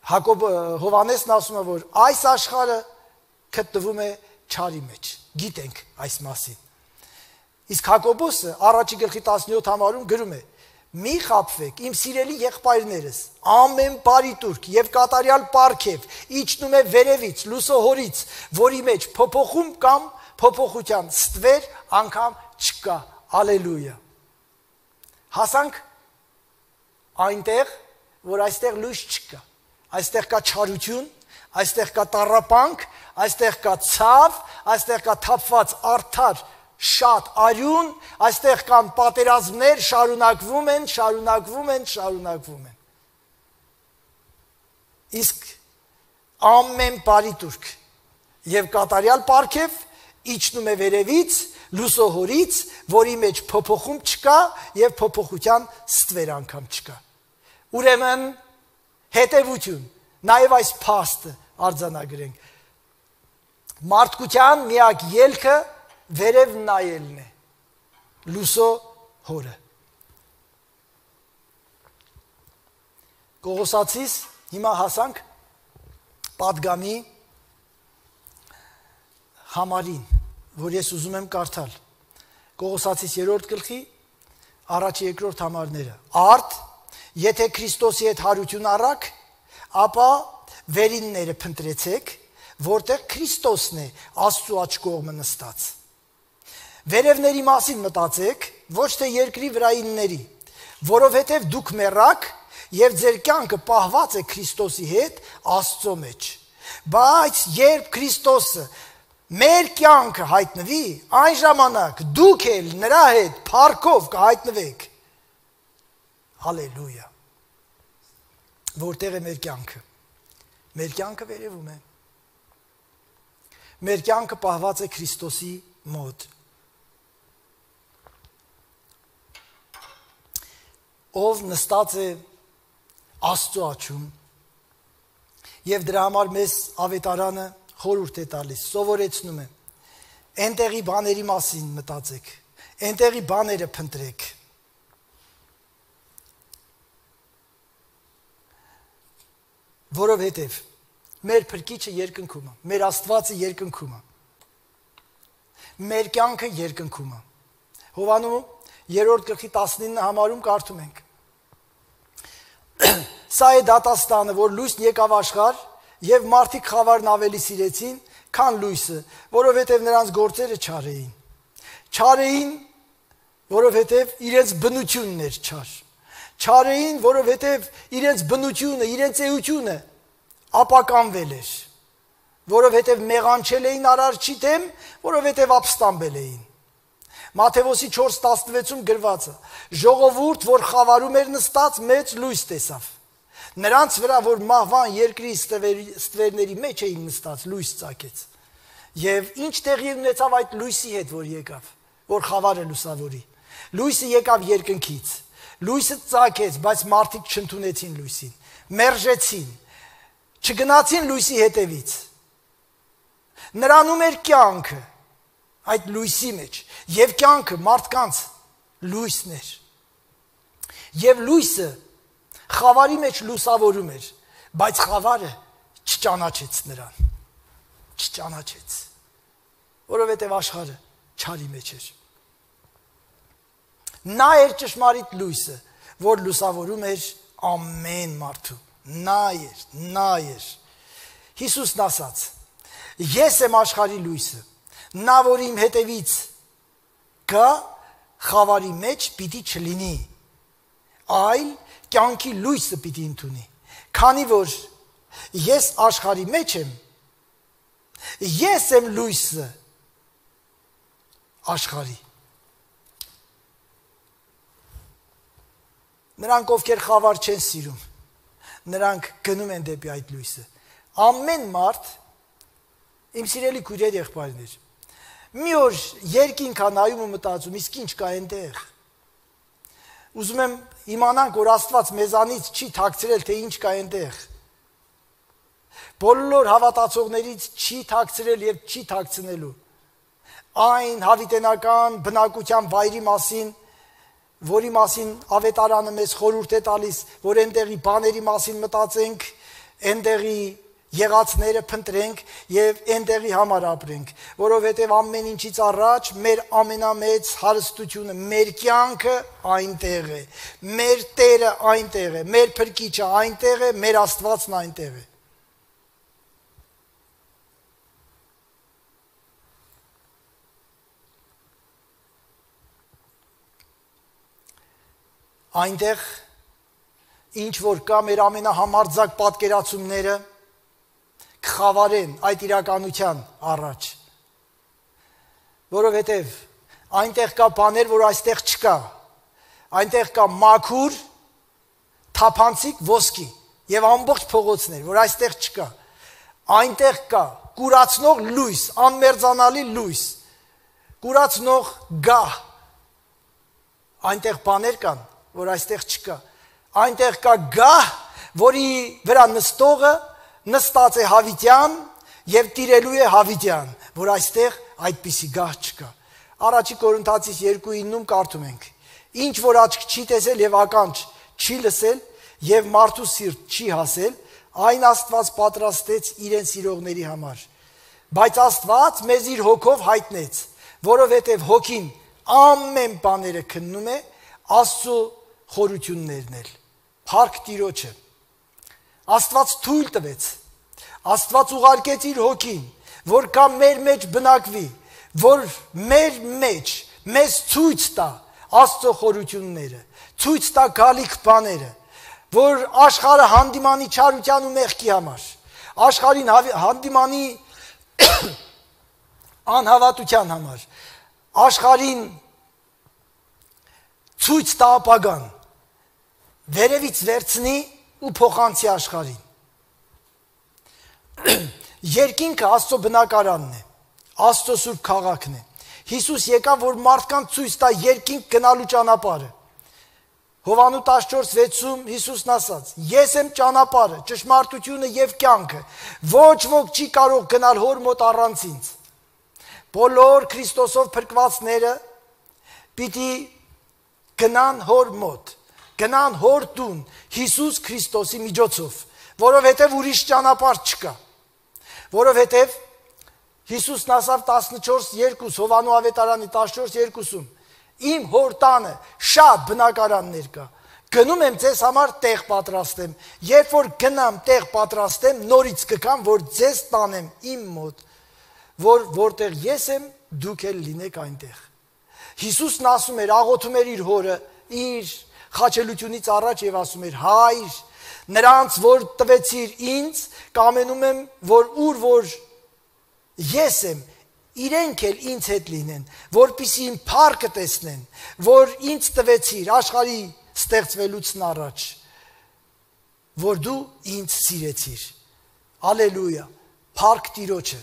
Հովհաննեսն ասում է, որ այս աշխարհը գտնվում է չարի մեջ, գիտենք այս մասին։ Իսկ Հակոբոսը առաջի գլխի 17 համարում գրում է. մի խաբվեք, իմ սիրելի եղբայրներս, ամեն բարի տուրք եւ կատարյալ պարգև իջնում է վերևից, լուսոհորից, որի մեջ փոփոխում կամ փոփոխության ստվեր անգամ չկա։ Ալելույա։ Հասանք այնտեղ, որ այստեղ լույս չկա։ այստեղ կա չարություն, այստեղ կա տառապանք, այստեղ կա ցավ, այստեղ կա թափված արդար շատ արյուն, այստեղ կան պատերազմներ, շարունակվում են։ Իսկ ամեն բարի տուրք եւ կատարյալ պարգև իջնում է վերևից, լուսոհորից, որի մեջ փոփոխում չկա եւ փոփոխության ստվեր անգամ չկա։ Ուրեմն հետևություն, նաեւ այս փաստը արձանագրենք։ Մարդկության միակ ելքը վերև նայելն է, լուսո հորը։ Կողոսացիս հիմա հասանք պատգամի համարին, որ ես ուզում եմ կարդալ։ Կողոսացիս 3-րդ գլխի 1-2 համարները։ Արդ, եթե Քրիստոսի հետ հարություն առաք, ապա վերինները փնտրեցեք, որտեղ Քրիստոսն է Աստծու աջ կողմը նստած։ Վերևների մասին մտածեք, ոչ թե երկրի վրայինների, որովհետև դուք մեռաք եւ ձեր կյանքը պահված է Քրիստոսի հետ Աստծո մեջ։ Բայց երբ Քրիստոսը մեր կյանքը հայտնվի, այն ժամանակ դուք էլ նրա հետ փառքով կհայտնվեք։ Հալելույա։ Որտեղ է մեր կյանքը։ Մեր կյանքը վերևում է։ Մեր կյանքը պահված է Քրիստոսի մոտ։ Ով նստած է Աստծո աջում եւ դրա համար մեզ ավետարանը խորհուրդ է տալիս, սովորեցնում է։ Այնտեղի բաների մասին մտածեք, այնտեղի բաները փնտրեք։ Որովհետև մեր փրկիչը երկնքում է, մեր Աստվածը երկնքում է։ Մեր կյանքը երկնքում է։ Հովանու 3-րդ գլխի 19 համարում կարդում ենք. Սա է դատաստանը, որ լույսն եկավ աշխարհ, եւ մարդիկ խավարն ավելի սիրեցին, քան լույսը, որովհետև նրանց գործերը չար էին։ Չար էին, որովհետև իրենց բնությունն էր չար։ Չար էին, որովհետև իրենց բնությունը, իրենց էությունը ապականվել էր, որովհետև մեղանչել էին արարչի դեմ, որովհետև ապստամբել էին։ Մատթեոսի 4:16-ում գրված է. ժողովուրդ, որ խավարում էր նստած, մեծ լույս տեսավ։ Նրանց վրա, որ մահվան երկրի ստվերների մեջ էին նստած, լույս ծագեց։ Եվ ինչ տեղի ունեցավ այդ լույսի հետ, որ եկավ, որ խավարը լուսավորի։ Լույսը եկավ երկնքից։ Լույսը ծագեց, բայց մարդիկ չընդունեցին լույսին, մերժեցին, չգնացին լույսի հետևից։ Նրանում էր կյանքը այդ լույսի մեջ, եւ կյանքը մարդկանց լույսն էր։ Եվ լույսը խավարի մեջ լուսավորում էր, բայց խավարը չճանաչեց նրան, չճանաչեց, որովհետև աշխարհը չարի մեջ էր։ Նա էր ճշմարիտ լույսը, որ լուսավորում էր ամեն մարդու, նա էր։ Հիսուսն ասաց. ես եմ աշխարհի լույսը, նա որ իմ հետևից գա, խավարի մեջ պիտի չլինի, այլ կյանքի լույսը պիտի ընդունի, քանի որ ես աշխարհի մեջ եմ, ես եմ լույսը աշխարհի։ Նրանք, ովքեր խավար չեն սիրում, նրանք գնում են դեպի այդ լույսը։ Ամեն մարդ, իմ սիրելի քույրեր, եղբայրներ, մի օր երկինք ա նայում ու մտածում, իսկ ինչ կա այնտեղ։ Ուզում եմ իմանանք, որ Աստված մեզանից չի թաքցրել, թե ինչ կա այնտեղ։ Բոլոր հավատացողներից չի թաքցրել եւ չի թաքցնելու։ Այն հավիտենական բնակության վայրի մասին, որի մասին ավետարանը մեզ խորհուրդ է տալիս, որ այնտեղի բաների մասին մտածենք, այնտեղի եղածները փնտրենք եւ այնտեղի համար ապրենք, որովհետեւ ամեն ինչից առաջ մեր ամենամեծ հարստությունը, մեր կյանքը այնտեղ է, մեր Տերը այնտեղ է, մեր Փրկիչը այնտեղ է, մեր Աստվածն այնտեղ է։ Այնտեղ ինչ որ կա մեր ամենահամարձակ պատկերացումները կխավարեն այդ իրականության առաջ, որովհետև այնտեղ կա բաներ, որ այստեղ չկա, այնտեղ կա մաքուր, թափանցիկ ոսկի եւ ամբողջ փողոցներ, որ այստեղ չկա, այնտեղ կա կուրացնող լույս, անմերձանալի լույս, կուրացնող գահ, այնտեղ բաներ կան, որ այստեղ չկա, այնտեղ կա գահ, որի վրա նստողը նստած է հավիտյան եւ տիրելու է հավիտյան, որ այստեղ այդպիսի գահ չկա։ Առաջի Կորինթացիս 2:9-ում կարդում ենք. Ինչ որ աչք չի տեսել եւ ականջ չի լսել եւ մարդու սիրտ չի հասել, այն Աստված պատրաստեց իրեն սիրողների համար։ Բայց Աստված մեզ իր հոգով հայտնեց, որովհետեւ հոգին ամեն բաները քննում է, Աստծո խորություններն էլ։ Փառք Տիրոջը։ Աստված թույլ տվեց, Աստված ուղարկեց իր հոգին, որ կա մեր մեջ բնակվի, որ մեր մեջ մեզ ցույց տա Աստծո խորությունները, ցույց տա գալիք բաները, որ աշխարհը հանդիմանի չարության ու մեղքի համար, աշխարհին հանդիմանի անհավատության համար, աշխարհին ցույց տա ապագան, վերևից վերցնի ու փոխանցի աշխարհին։ Երկինքը Աստծո բնակարանն է, Աստծո սուրբ քաղաքն է։ Հիսուս եկավ, որ մարդկանց ցույց տա երկինք գնալու ճանապարհը։ Հովանու 14:6-ում Հիսուսն ասաց. Ես եմ ճանապարհը, ճշմարտությունը եւ կյանքը։ Ոչ ոք չի կարող գնալ Հոր մոտ առանց ինձ։ Բոլոր Քրիստոսով փրկվածները պիտի գնան Հոր մոտ, գնան Հոր տուն Հիսուս Քրիստոսի միջոցով, որովհետև ուրիշ ճանապարհ չկա։ Որովհետև Հիսուսն ասավ 14:2 Հովանու ավետարանի 14:2-ում Իմ Հոր տանը շատ բնակարաններ կա։ Գնում եմ ձեզ համար տեղ պատրաստեմ։ Երբ որ գնամ տեղ պատրաստեմ, նորից կգամ, որ ձեզ տանեմ իմ մոտ, որտեղ ես եմ, դուք էլ լինեք այնտեղ։ Հիսուսն ասում էր, աղոթում էր իր Հորը, իր խաչելությունից առաջ եւ ասում էր. Հայր, նրանց որ տվեցիր ինձ, կամենում եմ, որ ես եմ, իրենք էլ ինձ հետ լինեն, որպեսզի իմ փառքը տեսնեն, որ ինձ տվեցիր աշխարհի ստեղծվելուց առաջ, որ դու ինձ սիրեցիր։ Ալելույա, փառք Տիրոջը։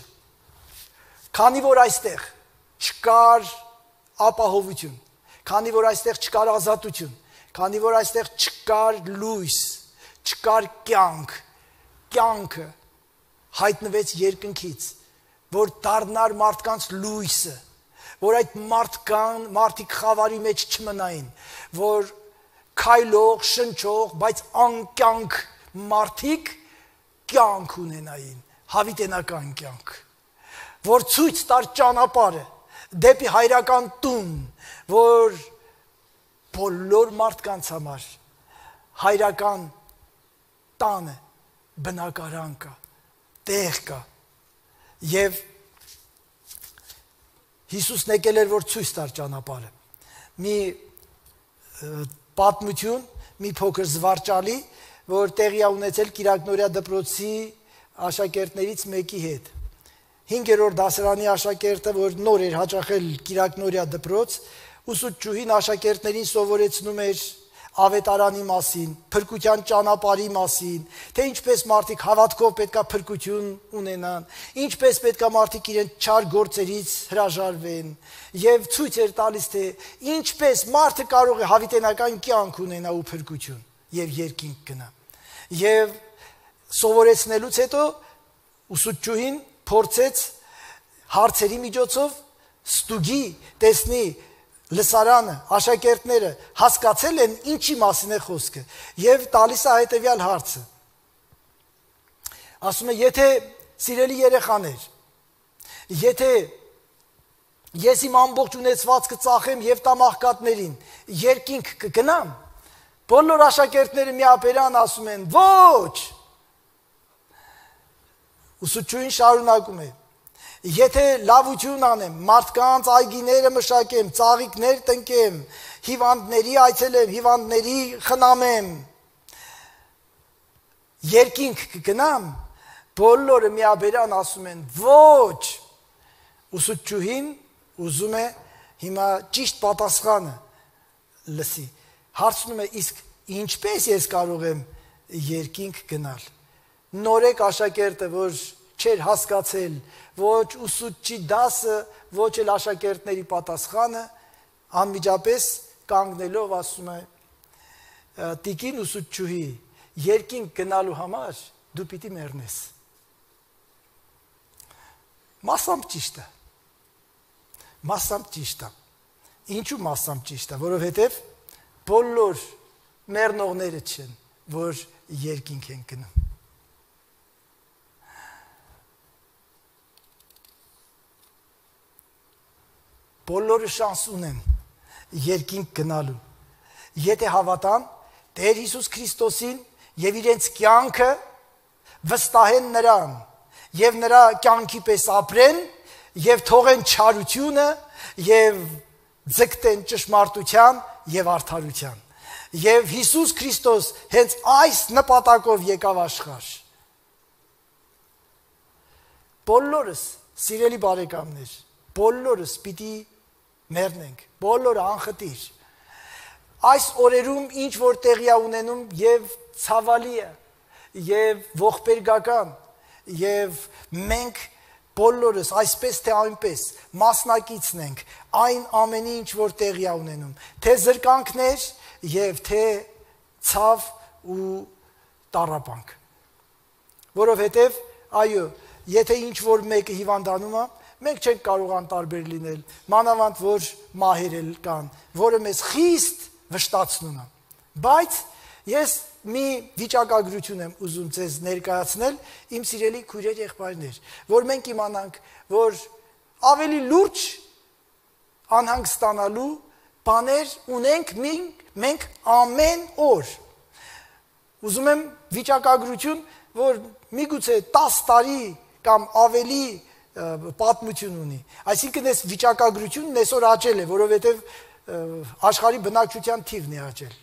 Քանի որ այստեղ չկար ապահովություն, քանի որ այստեղ չկար ազատություն, քանի որ այստեղ չկար լույս, չկար կյանքը հայտնվեց երկնքից, որ դառնար մարդկանց լույսը, որ այդ մարդիկ խավարի մեջ չմնային, որ քայլող, շնչող, բայց անկյանք մարդիկ կյանք ունենային, հավիտենական կյանք, որ ցույց տար ճանապարհը դեպի հայրական տուն, որ բոլոր մարդկանց համար հայրական տանը բնակարան կա, տեղ կա։ Եվ Հիսուսն եկել էր, որ ցույց տար ճանապարհը։ Մի պատմություն, մի փոքր զվարճալի, որ տեղի է ունեցել Կիրակնորիա դպրոցի աշակերտներից մեկի հետ։ 5-րդ դասարանի աշակերտը, որ նոր էր հաճախել Կիրակնորիա դպրոց, ուսուցչուհին աշակերտներին սովորեցնում էր ավետարանի մասին, փրկության ճանապարհի մասին, թե ինչպես մարդիկ հավատքով պետքա փրկություն ունենան, ինչպես պետքա մարդիկ իրենց չար գործերից հրաժարվեն, եւ ցույց էր տալիս, թե ինչպես մարդը կարող է հավիտենական կյանք ունենա ու փրկություն եւ երկինք գնա։ Եվ սովորեցնելուց հետո ուսուցչուհին փորձեց հարցերի միջոցով ստուգի, տեսնի լսարանը, աշակերտները հասկացել են ինչի մասին է խոսքը եւ տալիս է հետեւյալ հարցը։ Ասում է, եթե սիրելի երեխաներ, եթե ես իմ ամբողջ ունեցվածքը ծախեմ եւ տամ աղքատներին, երկինք կգնամ։ Բոլոր աշակերտները միաբերան ասում են. ոչ։ Ուսուցչուհին շարունակում է. Եթե լավություն անեմ, մարդկանց այգիները մշակեմ, ծաղիկներ տնկեմ, հիվանդների այցելեմ, հիվանդների խնամեմ, երկինք կգնամ, բոլորը միաբերան ասում են ոչ։ Ուսուցչուհին ուզում է հիմա ճիշտ պատասխանը լսի։ Հարցնում է իսկ ինչպես ես կարող եմ երկինք գնալ։ Նորեկ աշակերտը, որ չէր հասկացել ոչ ուսուցչի դասը, ոչ էլ աշակերտների պատասխանը, անմիջապես կանգնելով ասում է. Տիկին ուսուցչուհի, երկինք գնալու համար դու պիտի մեռնես։ Մասամբ ճիշտ է։ Մասամբ ճիշտ է։ Ինչու մասամբ ճիշտ է, որովհետև բոլոր մեռնողները չեն, որ երկինք են գնում։ Բոլորը շանս ունեն երկինք գնալու։ Եթե հավատան Տեր Հիսուս Քրիստոսին եւ իրենց կյանքը վստահեն նրան եւ նրա կյանքի պես ապրեն եւ թողեն չարությունը եւ ձգտեն ճշմարտության եւ արդարության։ Եվ Հիսուս Քրիստոս հենց այս նպատակով եկավ աշխարհ։ Բոլորս, սիրելի բարեկամներ, բոլորս պիտի մեռնենք, բոլորը անխտիր։ Այս օրերում ինչ որ տեղի է ունենում եւ ցավալի է, եւ ողբերգական, եւ մենք բոլորս այսպես թե այնպես մասնակիցն ենք այն ամենի ինչ որ տեղի է ունենում, թե զրկանքներ եւ թե ցավ ու տառապանք։ Որովհետեւ այո, եթե ինչ որ մեկը հիվանդանում է, մենք չենք կարող անտարբեր լինել, մանավանդ որ մահեր կան, որը մեզ խիստ վշտացնում է։ Բայց ես մի վիճակագրություն եմ ուզում ձեզ ներկայացնել, իմ սիրելի քույրեր եղբայրներ, որ մենք իմանանք, որ ավելի լուրջ անհանգստանալու բաներ ունենք մենք ամեն օր։ Ուզում եմ վիճակագրություն, որ միգուցե 10 տարի կամ ավելի պատմություն ունի։ Այսինքն այս վիճակագրությունն այսօր աճել է, որովհետև աշխարհի բնակչության թիվն է աճել։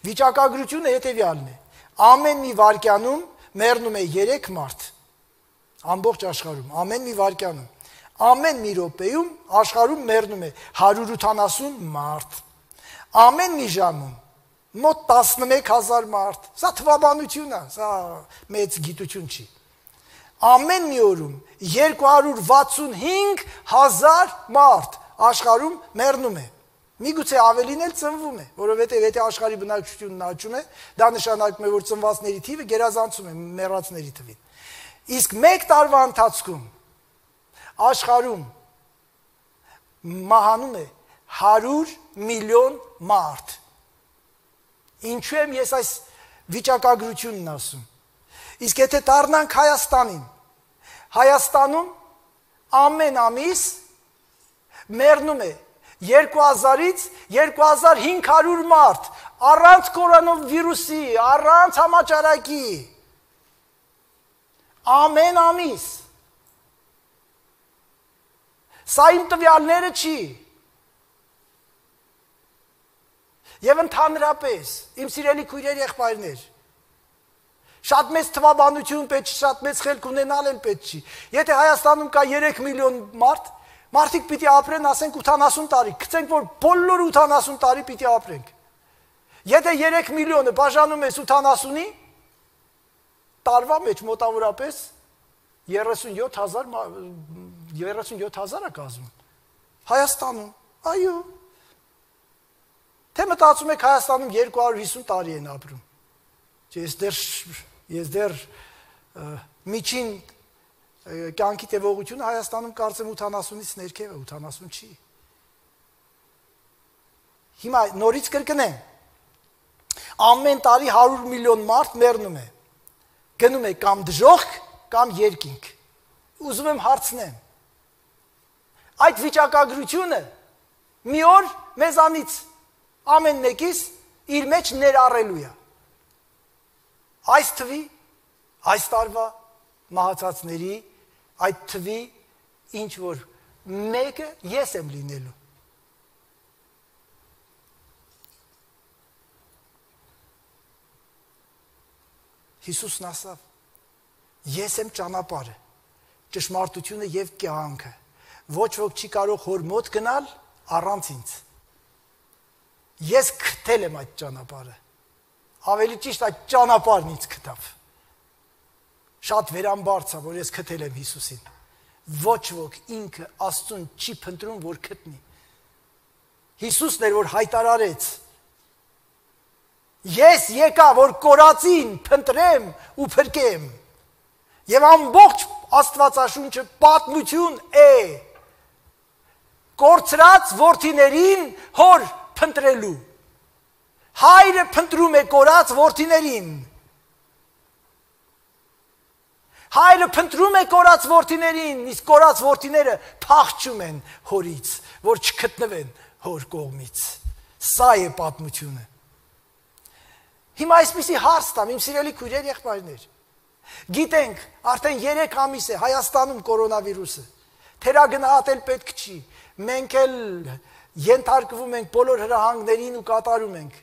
Վիճակագրությունը հետևյալն է. ամեն մի վայրկյանում մեռնում է 3 մարդ։ Ամբողջ աշխարհում, ամեն մի վայրկյանում, ամեն մի րոպեում աշխարհում մեռնում է 180 մարդ։ Ամեն մի ժամում մոտ 11000 մարդ։ Սա թվաբանություն է, սա մեծ գիտություն չի։ Ամեն մի օրում 265 000 մարդ աշխարհում մեռնում է։ Միգուցե ավելին էլ ծնվում է, որովհետև եթե աշխարհի բնակչությունն աճում է, դա նշանակում է, որ ծնվածների թիվը գերազանցում է մեռածների թվին։ Իսկ 1 տարվա ընթացքում աշխարհում մահանում է 100 միլիոն մարդ։ Ինչու եմ ես այս վիճակագրությունն ասում։ Իսկ եթե դառնանք Հայաստանին, Հայաստանում ամեն ամիս մեռնում է 2000-ից 2500 մարդ, առանց կորոնավիրուսի, առանց համաճարակի, ամեն ամիս։ Սա իմ տվյալները չի։ Եվ ընդհանրապես, իմ սիրելի քույրեր եղբայրներ, շատ մեծ թվաբանություն պետք չի, շատ մեծ խելք ունենալ էլ պետք չի։ Եթե Հայաստանում կա 3 միլիոն մարդ, մարդիկ պիտի ապրեն, ասենք 80 տարի, գցենք որ բոլորը 80 տարի պիտի ապրենք։ Եթե 3 միլիոնը բաժանում ես 80-ի, տարվա մեջ մոտավորապես 37,000 է կազմում։ Հայաստանում, այո։ Թե մտածում եք Հայաստանում 250 տարի են ապրում։ Ես դեռ միջին կյանքի տևողությունը Հայաստանում կարծեմ 80-ից ներքև է, 80 չի։ Հիմա նորից կրկնեմ։ Ամեն տարի 100 միլիոն մարդ մեռնում է։ Գնում է կամ դժոխք, կամ երկինք։ Ուզում եմ հարցնեմ։ Այդ վիճակագրությունը մի օր մեզանից ամեն մեկիս իր մեջ ներառելու է։ Այս թվի, այս տարվա մահացածների այդ թվի ինչ որ մեկը ես եմ լինելու։ Հիսուսն ասավ. Ես եմ ճանապարհը, ճշմարտությունը եւ կյանքը։ Ոչ ոք չի կարող հոր մոտ գնալ առանց ինձ։ Ես գտել եմ այդ ճանապարհը։ Ավելի ճիշտ այդ ճանապարհն ինձ գտավ։ Շատ վերամբարձ է, որ ես գտել եմ Հիսուսին։ Ոչ ոք ինքը Աստծուն չի փնտրում, որ գտնի։ Հիսուսն էր, որ հայտարարեց. Ես եկա, որ կորածին փնտրեմ ու փրկեմ։ Եվ ամբողջ Աստվածաշունչը պատմություն է կորցրած որդիներին հոր փնտրելու։ Հայրը փնտրում է կորած որդիներին։ Հայրը փնտրում է կորած որդիներին, իսկ կորած որդիները փախչում են հորից, որ չգտնվեն հոր կողմից։ Սա է պատմությունը։ Հիմա այսպիսի հարց տամ, իմ սիրելի քույրեր, եղբայրներ։ Գիտենք, արդեն 3 ամիս է Հայաստանում կորոնավիրուսը։ Թերագնահատել պետք չի։ Մենք էլ ենթարկվում ենք բոլոր հրահանգներին ու կատարում ենք։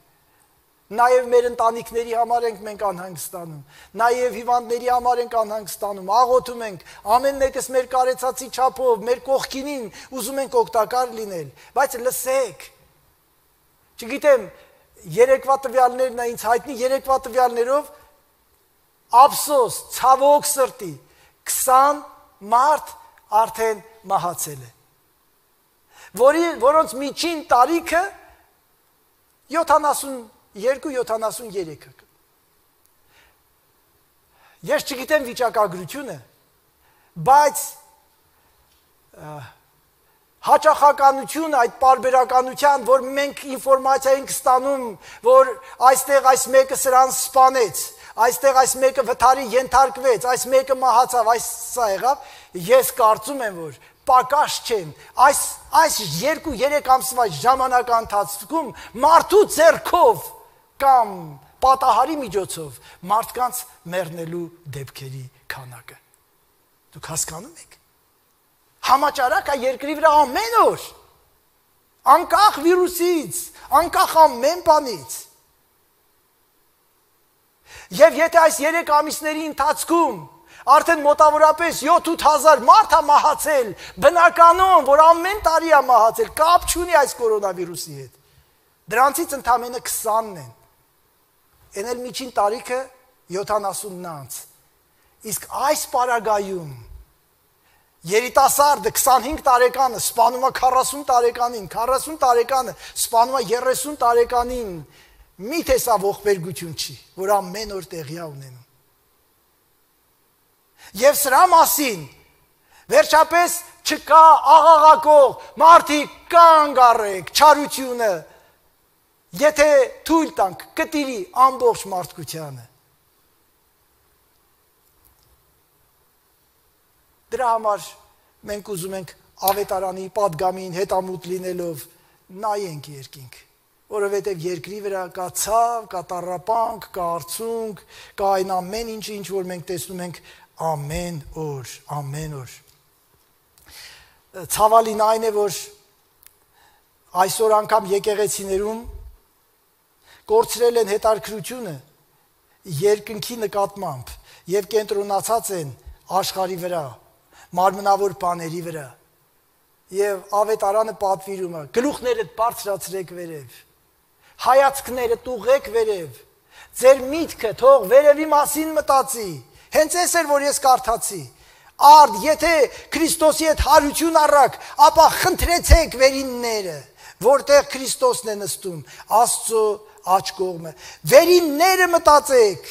Նաև մեր ընտանիքների համար ենք մենք անհանգստանում, նաև հիվանդների համար ենք անհանգստանում, աղոթում ենք, ամեն մեկս մեր կարեցածի չափով, մեր կողքինին ուզում ենք օգտակար լինել, բայց լսեք, չգիտեմ, երեկվա տվյալներն է ինձ հայտնի, երեկվա տվյալներով ափսոս, ցավոք սրտի, 20 մարդ արդեն մահացել է, որոնց միջին տարիքը 72-73-ը։ Ես չգիտեմ վիճակագրությունը, բայց հաճախականությունը այդ պարբերականության, որ մենք ինֆորմացիա ենք ստանում, որ այստեղ այս մեկը սրան սպանեց, այստեղ այս մեկը վթարի ենթարկվեց, այս մեկը մահացավ, այս սա եղավ, ես կարծում եմ, որ պակաս չեն, այս 2-3 ամսվա ժամանակահատվածում մարդու ձեռքով կամ պատահարի միջոցով մարդկանց մեռնելու դեպքերի քանակը։ Դուք հասկանում եք։ Համաճարակ է երկրի վրա ամեն օր, անկախ վիրուսից, անկախ ամեն բանից։ Եվ եթե այս 3 ամիսների ընթացքում արդեն մոտավորապես 7-8 մարդ է մահացել, բնականon, որ ամեն տարի է մահացել, կապ չունի այս կորոնավիրուսի հետ։ Դրանցից ընդամենը 20-ն են։ Են էլ միջին տարիքը 70-ն անց։ Իսկ այս պարագայում երիտասարդը 25 տարեկանը սպանում է 40 տարեկանին, 40 տարեկանը սպանում է 30 տարեկանին, միթե սա ողբերգություն չի, որ ամեն օր տեղի է ունենում։ Եվ սրա մասին վերջապես չկա աղաղակող, մարդիկ կանգ առեք, չարությունը, եթե թույլ տանք կտիրի ամբողջ մարդկությանը։ Դրա համար մենք ուզում ենք ավետարանի պատգամին հետամուտ լինելով նայենք երկինք, որովհետև երկրի վրա կա ցավ, կա տառապանք, կա արցունք, կա այն ամեն ինչ, որ մենք տեսնում ենք ամեն օր։ Ցավալին այն է, որ այսօր անգամ եկեղեցիներում կորցրել են հետարքրությունը երկնքի նկատմամբ եւ կենտրոնացած են աշխարհի վրա, մարմնավոր բաների վրա։ Եվ ավետարանը պատվիրում է. գլուխներդ բարձրացրեք վերև, հայացքներդ ուղղեք վերև, ձեր միտքը թող վերևի մասին մտածի։ Հենց այս էր, որ ես կարդացի. Արդ, եթե Քրիստոսի հետ հարություն առաք, ապա խնդրեցեք վերինները, որտեղ Քրիստոսն է նստում, Աստծո աջ կողմը։ Վերինները մտածեք,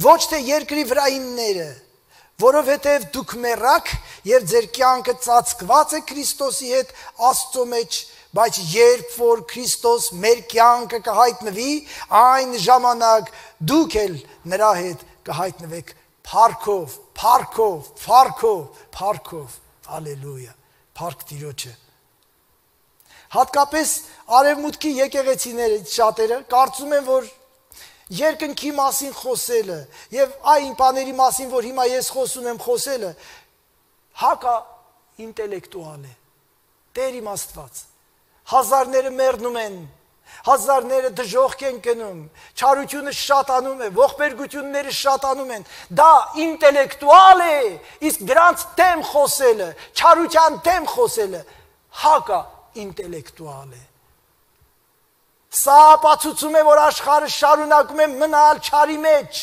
ոչ թե երկրի վրայինները, որովհետև դուք մեռաք եւ ձեր կյանքը ծածկված է Քրիստոսի հետ Աստծո մեջ, բայց երբ որ Քրիստոս մեր կյանքը կհայտնվի, այն ժամանակ դուք էլ նրա հետ կհայտնվեք փառքով, հալելույա, փառք Տիրոջը։ Հատկապես արևմուտքի եկեղեցիները շատերը կարծում են, որ երկնքի մասին խոսելը եւ այն բաների մասին, որ հիմա ես խոսում եմ խոսելը, հակա ինտելեկտուալ է, Տեր իմ Աստված։ Հազարները մեռնում են Հազարները դժոխք են գնում, չարությունը շատանում է, ողբերգությունները շատանում են, դա ինտելեկտուալ է, իսկ դրանց դեմ խոսելը, չարության դեմ խոսելը, հակա ինտելեկտուալ է։ Սա ապացուցում է, որ աշխարհը շարունակում է մնալ չարի մեջ,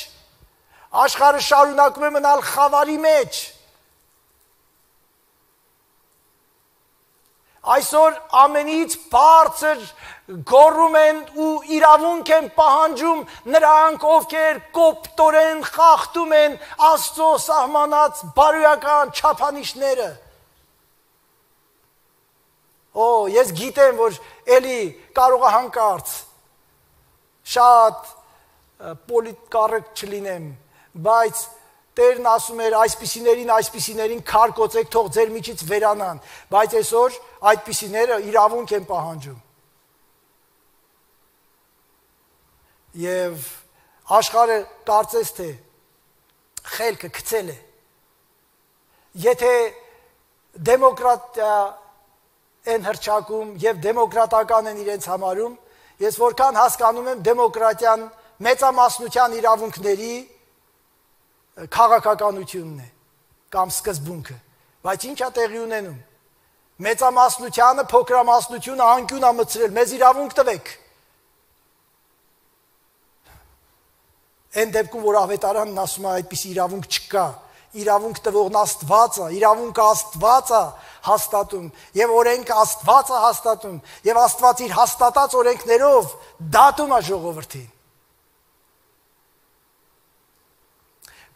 աշխարհը շարունակում է մնալ խավարի մեջ։ Այսօր ամենից բարձր գոռում են ու իրավունք են պահանջում նրանք, ովքեր կոպտորեն խախտում են Աստծո սահմանած բարոյական չափանիշները։ Ես գիտեմ, որ էլի կարող է հանկարծ շատ պոլիտկառիկ չլինեմ, բայց Տերն ասում էր այսպիսիներին քար կոծեք, թող ձեր միջից վերանան, բայց այսօր այդպիսիները իրավունք են պահանջում։ Եվ աշխարհը կարծես թե խելքը գցել է։ Եթե դեմոկրատիա են հռչակում եւ դեմոկրատական են իրենց համարում, ես որքան հասկանում եմ դեմոկրատիան մեծամասնության իրավունքների քաղաքականությունն է կամ սկզբունքը, բայց ինչ է տեղի ունենում։ Մեծամասնությանը փոքրամասնությունը անկյուն է մտցրել, մեզ իրավունք տվեք։ Այն դեպքում, որ ավետարանն ասում է այդպիսի իրավունք չկա, իրավունք տվողն Աստված է, իրավունքը Աստված է հաստատում, եւ օրենքը Աստված է հաստատում, եւ Աստված իր հաստատած օրենքներով դատում է ժողովրդին։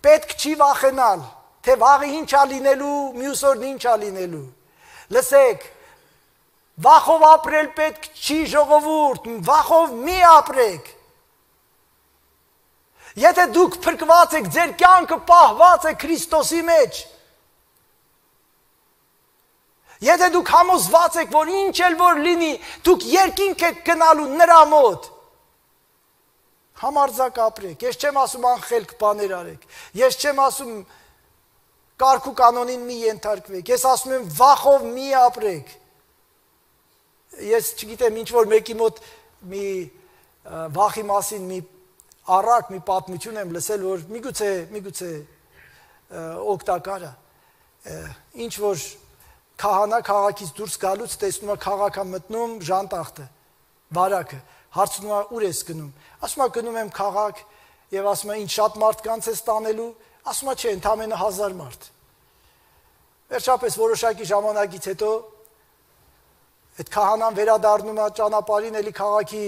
Պետք չի վախենալ, թե վաղը ինչ է լինելու, մյուս օրն ինչ է լինելու։ Լսեք, վախով ապրել պետք չի ժողովուրդ, վախով մի ապրեք։ Եթե դուք փրկված եք, ձեր կյանքը պահված է Քրիստոսի մեջ։ Եթե դուք համոզված եք, որ ինչ էլ որ լինի, դուք երկինք եք գնալու նրա մոտ։ Համարձակ ապրեք, ես չեմ ասում անխելք բաներ արեք, ես չեմ ասում կարգ ու կանոնին մի ենթարկվեք, ես ասում եմ վախով մի ապրեք։ Ես չգիտեմ ինչ որ մեկի մոտ մի վախի մասին մի առակ, մի պատմություն եմ լսել, որ միգուցե օգտակար է։ Ինչ որ քահանա քաղաքից դուրս գալուց տեսնում է քաղաք է մտնում ժանտախտը, վարակը, հարցնում է ուր ես գնում։ Ասում է գնում եմ քաղաք եւ ասում է ինչ շատ մարդկանց ես տանելու, ասում է չէ, ընդամենը 1000 մարդ։ Վերջապես որոշակի ժամանակից հետո այդ քահանան վերադառնում է ճանապարհին, էլի քաղաքի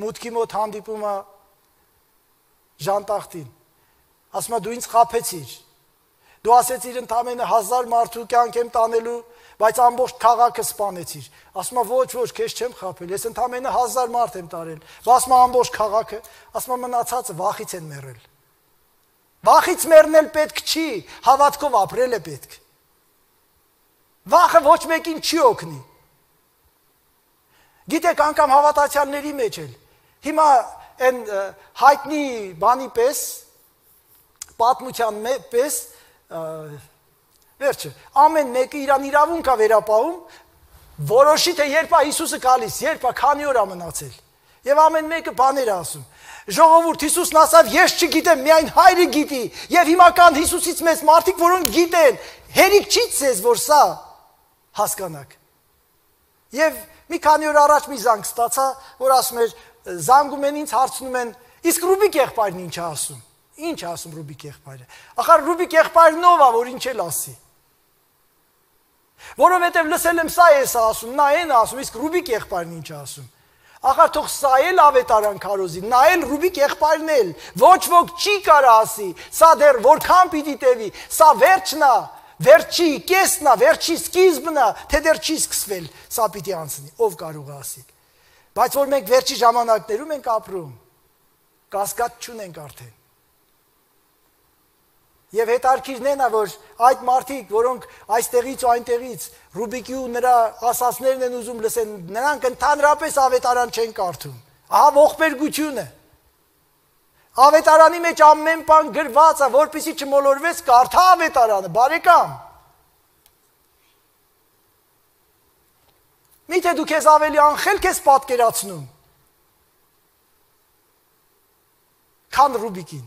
մուտքի մոտ հանդիպում է ժանտախտին։ Ասում է դու ինձ խաբեցիր։ Դու ասեցիր ընդամենը 1000 մարդու կյանք եմ տանելու, բայց ամբողջ քաղաքը սպանեցիր։ Ասում է ոչ, քեզ չեմ խաբել, ես ընդամենը 1000 մարդ եմ տարել։ Ասում է ամբողջ քաղաքը, ասում է մնացածը վախից են մեռել։ Վախից մեռնել պետք չի, հավատքով ապրել է պետք։ Վախը ոչ մեկին չի օգնի։ Գիտեք, անգամ հավատացյալների մեջ էլ։ Հիմա այն հայտնի բանի պես, պատմության պես, վերջը, ամեն մեկը իրան իրավունք է վերապահում, որոշի թե երբ է Հիսուսը գալիս, երբ է քանի օր է մնացել։ Եվ ամեն մեկը բաներ է ասում։ Ժողովուրդ, Հիսուսն ասավ, ես չգիտեմ, միայն Հայրը գիտի, եւ հիմա կան Հիսուսից մեծ մարդիկ, որոնք գիտեն, հերիք չի ցեզ, որ սա հասկանաք։ Եվ մի քանի օր առաջ մի զանգ ստացա, որ ասում էր, զանգում են ինձ, հարցնում են, իսկ Ռուբիկ եղբայրն ինչ է ասում։ Ինչ է ասում Ռուբիկ եղբայրը։ Ախր Ռուբիկ եղբայրն ով է, որ ինչ էլ ասի։ Որովհետև լսել եմ սա էս ասում, նա այն ասում, իսկ Ռուբիկ եղբայրն ինչ է ասում։ Ախր թող սա էլ ավետարան քարոզի, նա էլ Ռուբիկ եղբայրն էլ, ոչ ոք չի կարա ասի, սա դեռ որքան պիտի տևի, սա վերջն է, վերջի կեսն է, վերջի սկիզբն է, թե դեռ չի սկսվել, սա պիտի անցնի, ով կարող է ասի։ Բայց որ մենք վերջի ժամանակներում ենք ապրում, կասկած չունենք արդեն։ Եվ հետարքիրն են է, որ այդ մարդիկ, որոնք այստեղից ու այնտեղից Ռուբիկի ու նրա ասածներն են ուզում լսեն, նրանք ընդհանրապես ավետարան չեն կարդում։ Ահա ողբերգությունը։ Ավետարանի մեջ ամեն բան գրված է, որպեսզի չմոլորվես, կարդա ավետարանը, բարեկամ։ Մի Միթե դու քեզ ավելի անխելք ես պատկերացնում, քան Ռուբիկին։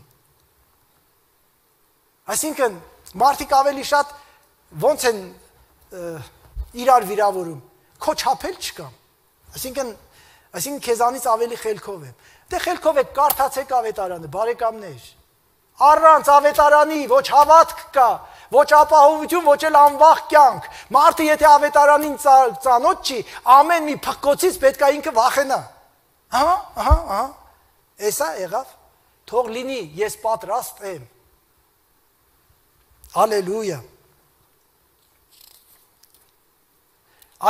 Այսինքն, մարդիկ ավելի շատ ոնց են իրար վիրավորում, քո չափել չկա։ Այսինքն քեզանից ավելի խելքով եմ։ Դե խելքով եք կարդացեք ավետարանը, բարեկամներ։ Առանց ավետարանի ոչ հավատք կա, ոչ ապահովություն, ոչ էլ անվախ կյանք։ Մարդը եթե ավետարանին ծանոթ չի, ամեն մի փղկոցից պետք է ինքը վախենա։ Ահա։ Էսա եղավ։ Թող լինի, ես պատրաստ եմ։ Հալելույա։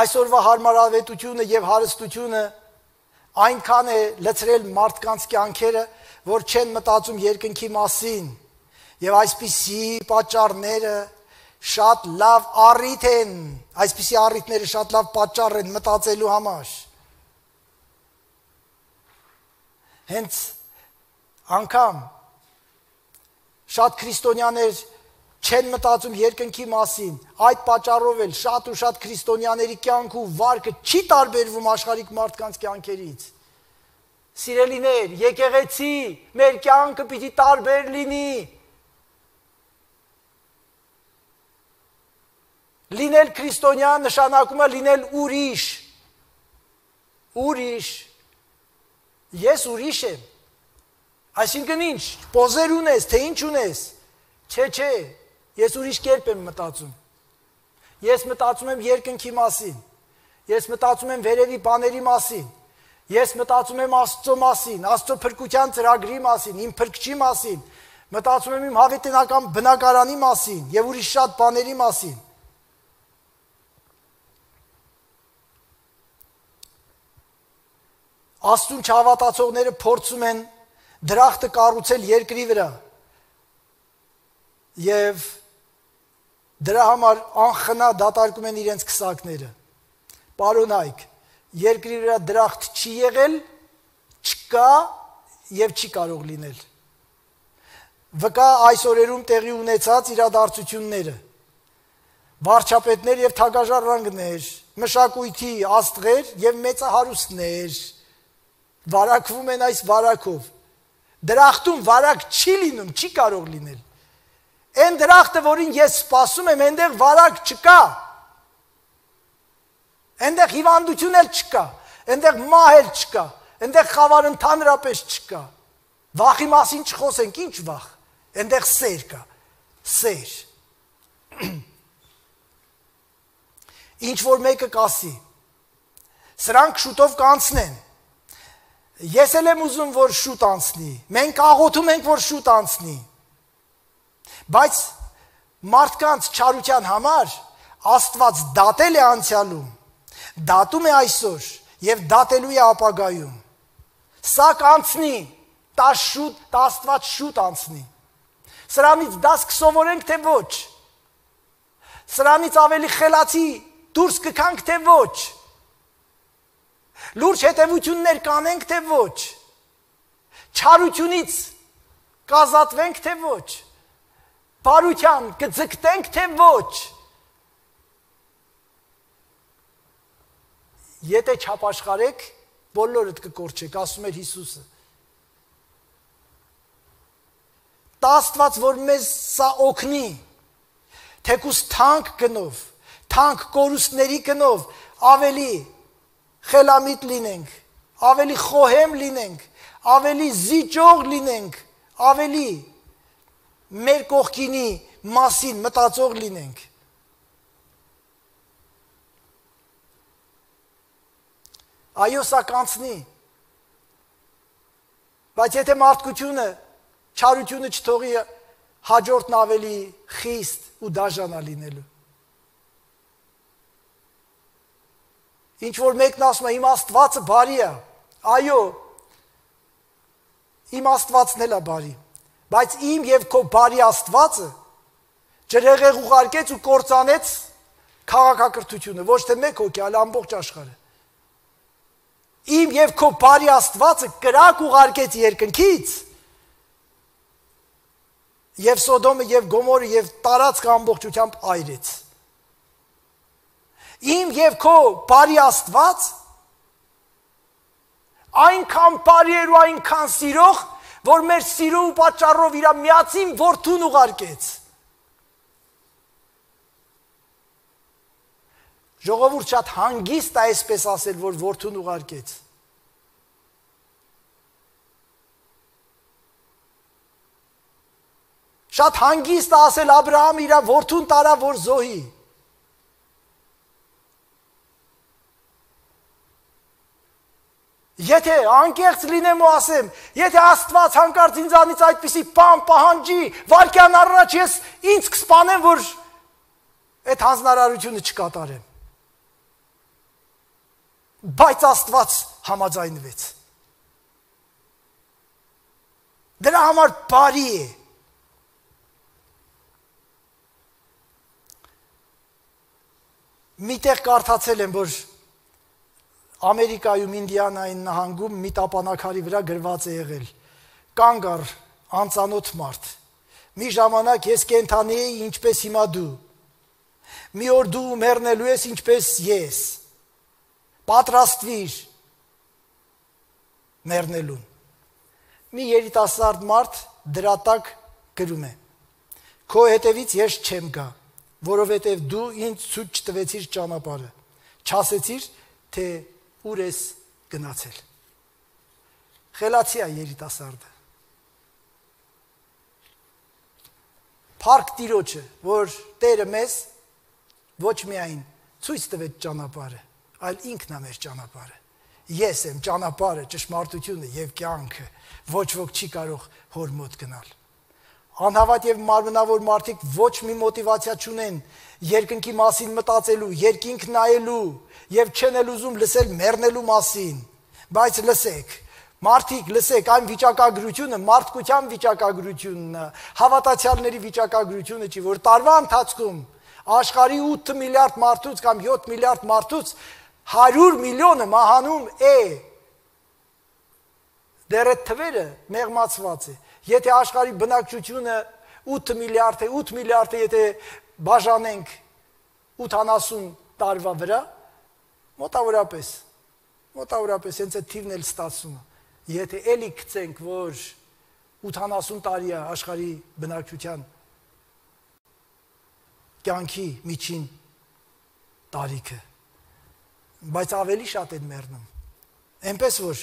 Այսօրվա հարմարավետությունը եւ հարստությունը այնքան է լցրել մարդկանց կյանքերը, որ չեն մտածում երկնքի մասին, եւ այսպիսի պատճառները շատ լավ առիթ են, այսպիսի առիթները շատ լավ պատճառ են մտածելու համար։ Հենց անգամ շատ քրիստոնյաներ չեն մտածում երկնքի մասին, այդ պատճառով էլ շատ ու շատ քրիստոնյաների կյանք ու վարկը չի տարբերվում աշխարհիկ մարդկանց կյանքերից։ Սիրելիներ, եկեղեցի, մեր կյանքը պիտի տարբեր լինի։ Լինել քրիստոնյա նշանակում է լինել ուրիշ։ Ուրիշ։ Ես ուրիշ եմ։ Այսինքն ինչ, պոզեր ունես, թե ինչ ունես։ Չէ, ես ուրիշ կերպ եմ մտածում։ Ես մտածում եմ երկնքի մասին։ Ես մտածում եմ վերևի բաների մասին։ Ես մտածում եմ Աստծո մասին, Աստծո փրկության ծրագրի մասին, իմ փրկչի մասին, մտածում եմ իմ հավիտենական բնակարանի մասին եւ ուրիշ շատ բաների մասին։ Աստուն չհավատացողները փորձում են դրախտը կառուցել երկրի վրա եւ դրա համար անխնա դատարկում են իրենց քսակները։ Պարոնայք, երկրի վրա դրախտ չի եղել, չկա եւ չի կարող լինել։ Վկա այս օրերում տեղի ունեցած իրադարձությունները։ Վարչապետներ եւ թագաժառանգներ, մշակույթի աստղեր եւ մեծահարուստներ վարակվում են այս վարակով։ Դրախտում վարակ չի լինում, չի կարող լինել։ Այն դրախտը, որին ես սպասում եմ, այնտեղ վարակ չկա։ Այնտեղ հիվանդություն էլ չկա, այնտեղ մահ էլ չկա, այնտեղ խավար ընդհանրապես չկա։ Վախի մասին չխոսենք, ինչ վախ։ Այնտեղ սեր կա, սեր։ Ինչ որ մեկը կասի, սրանք շուտով կանցնեն։ Ես էլ եմ ուզում, որ շուտ անցնի։ Մենք աղոթում ենք, որ շուտ անցնի։ Բայց մարդկանց չարության համար Աստված դատել է անցյալում, դատում է այսօր եւ դատելու է ապագայում։ Սա կանցնի, դա Աստված շուտ անցնի։ Սրանից դաս կսովորենք, թե ոչ։ Սրանից ավելի խելացի դուրս կգանք, թե ոչ։ Լուրջ հետևություններ կանենք, թե ոչ։ Չարությունից կազատվենք, թե ոչ։ Բարության կձգտենք, թե ոչ։ Եթե չապաշխարեք, բոլորդ կկորչեք, ասում էր Հիսուսը։ Տա Աստված, որ մեզ սա օգնի, թեկուզ թանկ գնով, թանկ կորուստների գնով, ավելի խելամիտ լինենք, ավելի խոհեմ լինենք, ավելի զիջող լինենք, ավելի մեր կողքինի մասին մտածող լինենք։ Այո, սա կանցնի, բայց եթե մարդկությունը, չարությունը չթողի, հաջորդն ավելի խիստ ու դաժանա լինելու։ Ինչ որ մեկն ասում է, իմ Աստվածը բարի է, այո, իմ Աստվածն էլ է բարի, բայց իմ եւ քո բարի Աստվածը ջրհեղեղ ուղարկեց ու կործանեց քաղաքակրթությունը, ոչ թե մեկ հոգի, այլ ամբողջ աշխարհը։ Իմ եւ քո բարի Աստվածը կրակ ուղարկեց երկնքից եւ Սոդոմը եւ Գոմորը եւ տարածքը ամբողջությամբ այրեց։ Իմ եւ քո բարի Աստված այնքան բարի էր ու այնքան սիրող, որ մեր սիրո ու պատճառով իր միածին որդուն ուղարկեց։ Ժողովուրդ շատ հանգիստ է այսպես ասել, որ որդուն ուղարկեց։ Շատ հանգիստ է ասել Աբրահամ իր որդուն տարա, որ զոհի։ Եթե անկեղծ լինեմ ու ասեմ, եթե Աստված հանկարծ ինձանից այդպիսի բան պահանջի, վայրկյան առաջ ես ինձ կսպանեմ, որ այդ հանձնարարությունը չկատարեմ։ Բայց Աստված համաձայնվեց։ Դրա համար բարի է։ Միտեղ կարդացել եմ, որ Ամերիկայում Ինդիանային նահանգում մի տապանակարի վրա գրված է եղել. կանգ առ անծանոթ մարդ։ Մի ժամանակ ես կենդանի էի ինչպես հիմա դու։ Մի օր դու մեռնելու ես ինչպես ես։ Պատրաստվիր մեռնելուն։ Մի երիտասարդ մարդ դրա տակ գրում է. քո հետևից ես չեմ գա, որովհետև դու ինձ ցույց չտվեցիր ճանապարհը։ Չասեցիր, թե ուր ես գնացել։ Խելացի է երիտասարդը։ Փառք Տիրոջը, որ Տերը մեզ ոչ միայն ցույց տվեց ճանապարհը, այլ ինքն է մեր ճանապարհը։ Ես եմ ճանապարհը, ճշմարտությունը եւ կյանքը, ոչ ոք չի կարող հոր մոտ գնալ։ Անհավատ եւ մարմնավոր մարդիկ ոչ մի մոտիվացիա չունեն երկնքի մասին մտածելու, երկինք նայելու եւ չեն էլ ուզում լսել մեռնելու մասին, բայց լսեք, մարդիկ լսեք, այն վիճակագրությունը մարդկության վիճակագրությունն է, հավատացյալների վիճակագրությունը չի, որ տարվա ընթացքում աշխարհի 8 միլիարդ մարդուց կամ 7 միլիարդ մարդուց 100 միլիոնը մահանում է։ Դեռ այդ թվերը մեղմացված է։ Եթե աշխարհի բնակչությունը 8 միլիարդ է, 8 միլիարդը եթե բաժանենք 80 տարվա վրա, մոտավորապես հենց այդ թիվն էլ ստացվում է։ Եթե էլի գցենք, որ 80 տարի է աշխարհի բնակչության կյանքի միջին տարիքը, բայց ավելի շատ են մեռնում։ Այնպես որ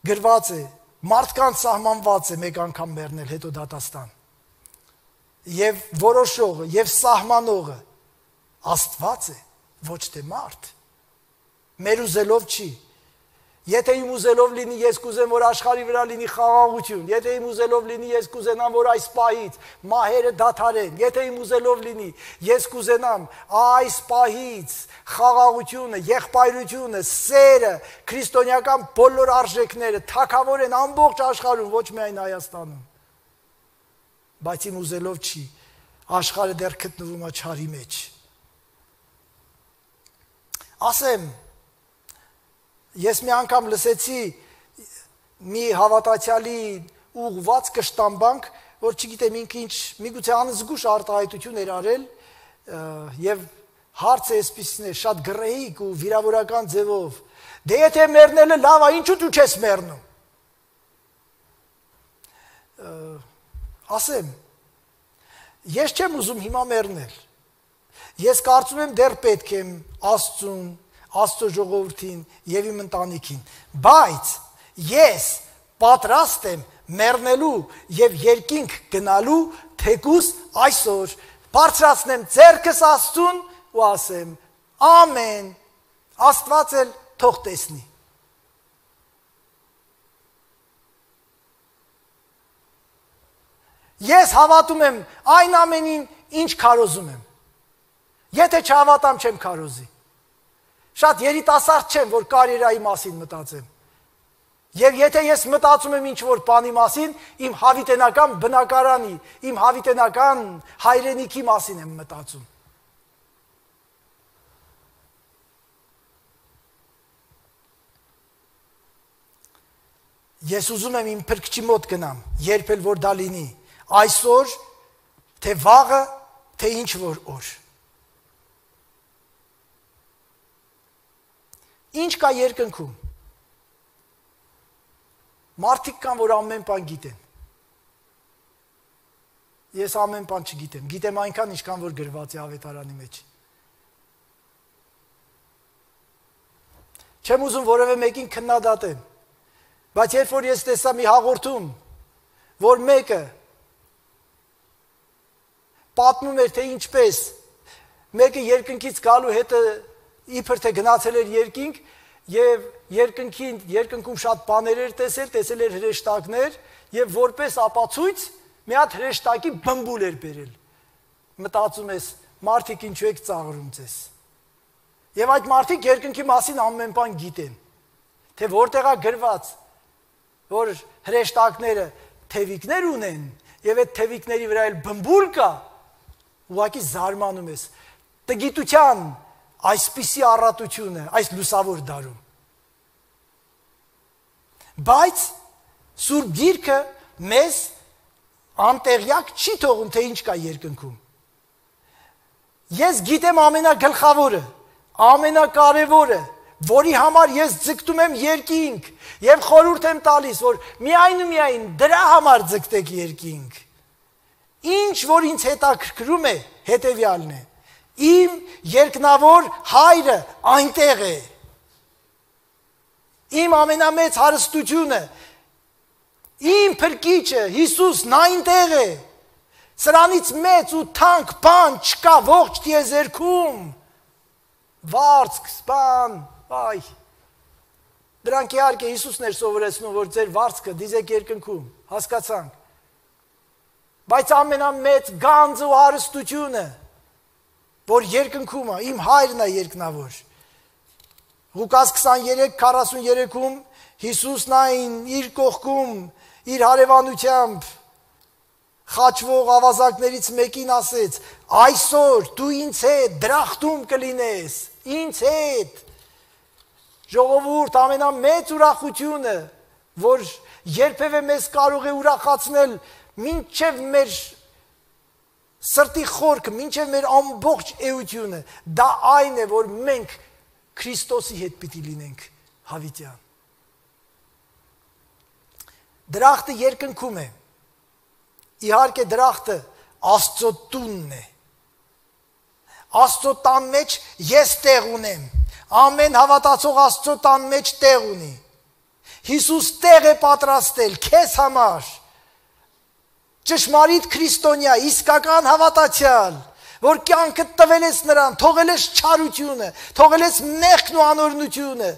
գրված է, մարդկանց սահմանված է մեկ անգամ մեռնել, հետո դատաստան։ Եվ որոշողը, եւ սահմանողը Աստված է, ոչ թե մարդ։ Մեր ուզելով չի։ Եթե իմ ուզելով լինի, ես կուզեմ, որ աշխարհի վրա լինի խաղաղություն։ Եթե իմ ուզելով լինի, ես կուզենամ, որ այս պահից մահերը դադարեն։ Եթե իմ ուզելով լինի, ես կուզենամ այս պահից խաղաղությունը, եղբայրությունը, սերը, քրիստոնեական բոլոր արժեքները թակավորեն ամբողջ աշխարհում, ոչ միայն Հայաստանում։ Բայց իմ ուզելով չի, աշխարհը դեռ գտնվում է չարի մեջ։ Ասեմ, ես մի անգամ լսեցի մի հավատացյալի ուղված կշտամբանք, որ չգիտեմ ինքը ինչ, միգուցե անզգուշ արտահայտություն էր արել եւ հարցը այսպիսին է, շատ գրեհիկ ու վիրավորական ձևով։ Դե եթե մեռնելը լավ է, ինչու դու չես մեռնում։ Ասեմ, ես չեմ ուզում հիմա մեռնել։ Ես կարծում եմ դեռ պետք եմ Աստծուն, Աստծո ժողովրդին եւ իմ ընտանիքին, բայց ես պատրաստ եմ մեռնելու եւ երկինք գնալու թեկուս այսօր բարձրացնեմ ձեռքս Աստծուն ու ասեմ ամեն, Աստված էլ թող տեսնի։ Ես հավատում եմ այն ամենին, ինչ քարոզում եմ։ Եթե չհավատամ, չեմ քարոզի։ Շատ երիտասարդ չեմ, որ կարիերայի մասին մտածեմ։ Եվ եթե ես մտածում եմ ինչ-որ բանի մասին, իմ հավիտենական բնակարանի, իմ հավիտենական հայրենիքի մասին եմ մտածում։ Ես ուզում եմ իմ փրկչի մոտ գնամ, երբ էլ որ դա լինի, այսօր, թե վաղը, թե ինչ որ օր։ Ինչ կա երկնքում։ Մարդիկ կան, որ ամեն բան գիտեն։ Ես ամեն բան չգիտեմ։ Գիտեմ այնքան, ինչքան որ գրված է ավետարանի մեջ։ Չեմ ուզում որևէ մեկին քննադատեմ, բայց երբ որ ես տեսա մի հաղորդում, որ մեկը պատմում էր, թե ինչպես մեկը երկնքից գալու հետը իբր թե գնացել էր երկինք եւ երկնքում շատ բաներ էր տեսել էր հրեշտակներ եւ որպես ապացույց մի հատ հրեշտակի բմբուլ էր բերել։ Մտածում ես, մարդիկ ինչու եք ծաղրում ձեզ։ Եվ այդ մարդիկ երկնքի մասին ամեն բան գիտեն, թե որտեղ է գրված, որ հրեշտակները թևիկներ ունեն, եւ այդ թևիկների վրա էլ բմբուլ կա, ուղղակի զարմանում ես։ Տգիտության այսպիսի առատությունը այս լուսավոր դարում։ Բայց Սուրբ Գիրքը մեզ անտեղյակ չի թողում, թե ինչ կա երկնքում։ Ես գիտեմ ամենագլխավորը, ամենակարևորը, որի համար ես ձգտում եմ երկինք եւ խորհուրդ եմ տալիս, որ միայն ու միայն դրա համար ձգտեք երկինք։ Ինչ որ ինձ հետաքրքրում է, հետեւյալն է. իմ երկնավոր հայրը այնտեղ է։ Իմ ամենամեծ հարստությունը, իմ փրկիչը Հիսուսն այնտեղ է։ Սրանից մեծ ու թանկ բան չկա ողջ տիեզերքում։ Վարձք, սպան, այ։ Դրանք իհարկե Հիսուսն էր սովորեցնում, որ ձեր վարձքը դիզեք երկնքում, հասկացանք։ Բայց ամենամեծ գանձը ու հարստությունը, որ երկնքում է, իմ հայրն է երկնավոր։ Ղուկաս 23:43-ում Հիսուսն այն իր կողքում, իր հարևանությամբ խաչվող ավազակներից մեկին ասեց. այսօր դու ինձ հետ դրախտում կլինես, ինձ հետ։ Ժողովուրդ, ամենամեծ ուրախությունը, որ երբևէ մեզ կարող է ուրախացնել, մինչև մեր սրտի խորքը, մինչև մեր ամբողջ էությունը, դա այն է, որ մենք Քրիստոսի հետ պիտի լինենք հավիտյան։ Դրախտը երկնքում է։ Իհարկե դրախտը Աստծո տունն է։ Աստծո տան մեջ ես տեղ ունեմ։ Ամեն հավատացող Աստծո տան մեջ տեղ ունի։ Հիսուս տեղ է պատրաստել քեզ համար։ Ճշմարիտ քրիստոնյա, իսկական հավատացյալ, որ կյանքդ տվել ես նրան, թողել ես չարությունը, թողել ես մեղքն ու անօրենությունը,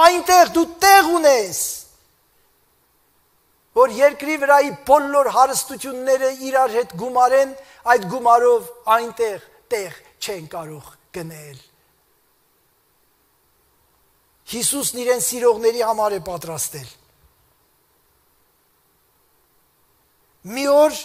այնտեղ դու տեղ ունես, որ երկրի վրայի բոլոր հարստությունները իրար հետ գումարեն, այդ գումարով այնտեղ տեղ չեն կարող գնել։ Հիսուսն իրեն սիրողների համար է պատրաստել։ Մի օր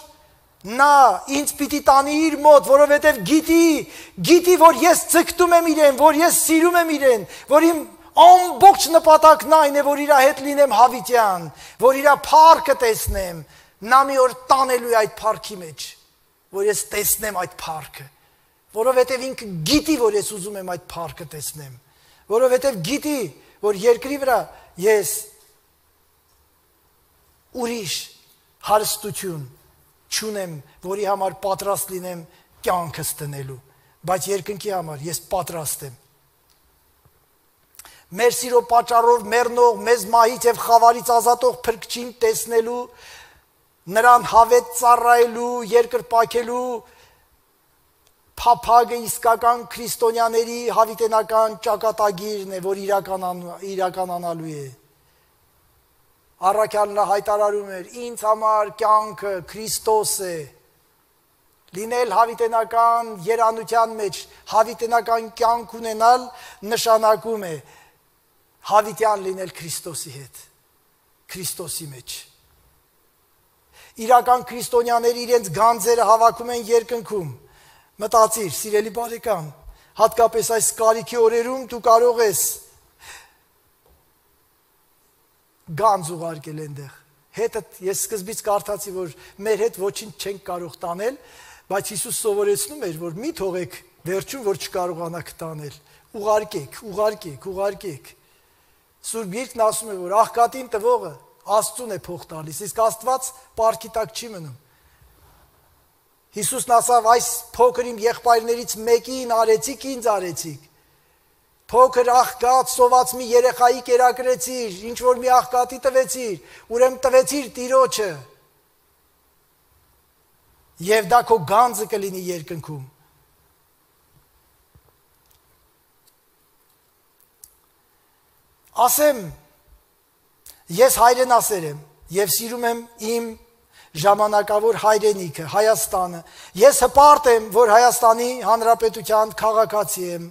նա ինձ պիտի տանի իր մոտ, որովհետև գիտի, որ ես ձգտում եմ իրեն, որ ես սիրում եմ իրեն, որ իմ ամբողջ նպատակն այն է, որ իր հետ լինեմ հավիտյան, որ իր փառքը տեսնեմ, նա մի օր տանելու է այդ փառքի մեջ, որ ես տեսնեմ այդ փառքը, որովհետև ինքը գիտի, որ ես ուզում եմ այդ փառքը տեսնեմ, որովհետև գիտի, որ երկրի վրա ես ուրիշ հարստություն չունեմ, որի համար պատրաստ լինեմ կյանքս տնելու, բայց երկնքի համար ես պատրաստ եմ։ Մեր սիրո պատճառով մեռնող, մեզ մահից եւ խավարից ազատող փրկչին տեսնելու, նրան հավետ ծառայելու, երկրպագելու փափագը իսկական քրիստոնյաների հավիտենական ճակատագիրն է, որ իրականանալու է։ Առաքյալն հայտարարում էր. ինձ համար կյանքը Քրիստոս է։ Լինել հավիտենական երանության մեջ, հավիտենական կյանք ունենալ նշանակում է հավիտյան լինել Քրիստոսի հետ, Քրիստոսի մեջ։ Իրական քրիստոնյաները իրենց գանձերը հավաքում են երկնքում։ Մտածիր, սիրելի բարեկամ, հատկապես այս կարիքի օրերում դու կարող ես գանձ ուղարկել այնտեղ։ Հետդ ես սկզբից կարդացի, որ մեր հետ ոչինչ չենք կարող տանել, բայց Հիսուս սովորեցնում էր, որ մի թողեք վերջում, որ չկարողանաք տանել։ Ուղարկեք։ Սուրբ Գիրքն ասում է, որ աղքատին տվողը Աստծուն է փող տալիս, իսկ Աստված պարտքի տակ չի մնում։ Հիսուսն ասավ, այս փոքր իմ եղբայրներից մեկին արեցիք, ինձ արեցիք։ Փոքր աղքատ սոված մի երեխայի կերակրեցիր, ինչ որ մի աղքատի տվեցիր, ուրեմն տվեցիր Տիրոջը։ Եվ դա քո գանձը կլինի երկնքում։ Ասեմ, ես հայրենասեր եմ եւ սիրում եմ իմ ժամանակավոր հայրենիքը, Հայաստանը։ Ես հպարտ եմ, որ Հայաստանի Հանրապետության քաղաքացի եմ,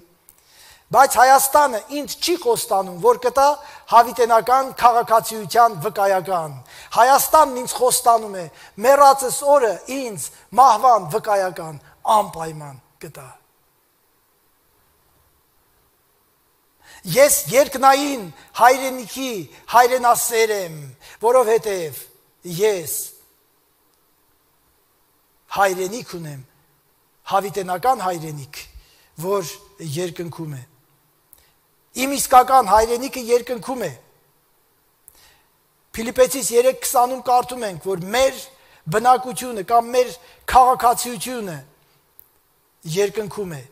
բայց Հայաստանը ինձ չի խոստանում, որ կտա հավիտենական քաղաքացիության վկայական։ Հայաստանն ինձ խոստանում է, մեռածս օրը ինձ մահվան վկայական անպայման կտա։ Ես երկնային հայրենիքի հայրենասեր եմ, որովհետև ես հայրենիք ունեմ, հավիտենական հայրենիք, որ երկնքում է։ Իմ իսկական հայրենիքը երկնքում է։ Փիլիպպեցիս 3:20-ում կարդում ենք, որ մեր բնակությունը կամ մեր քաղաքացիությունը երկնքում է,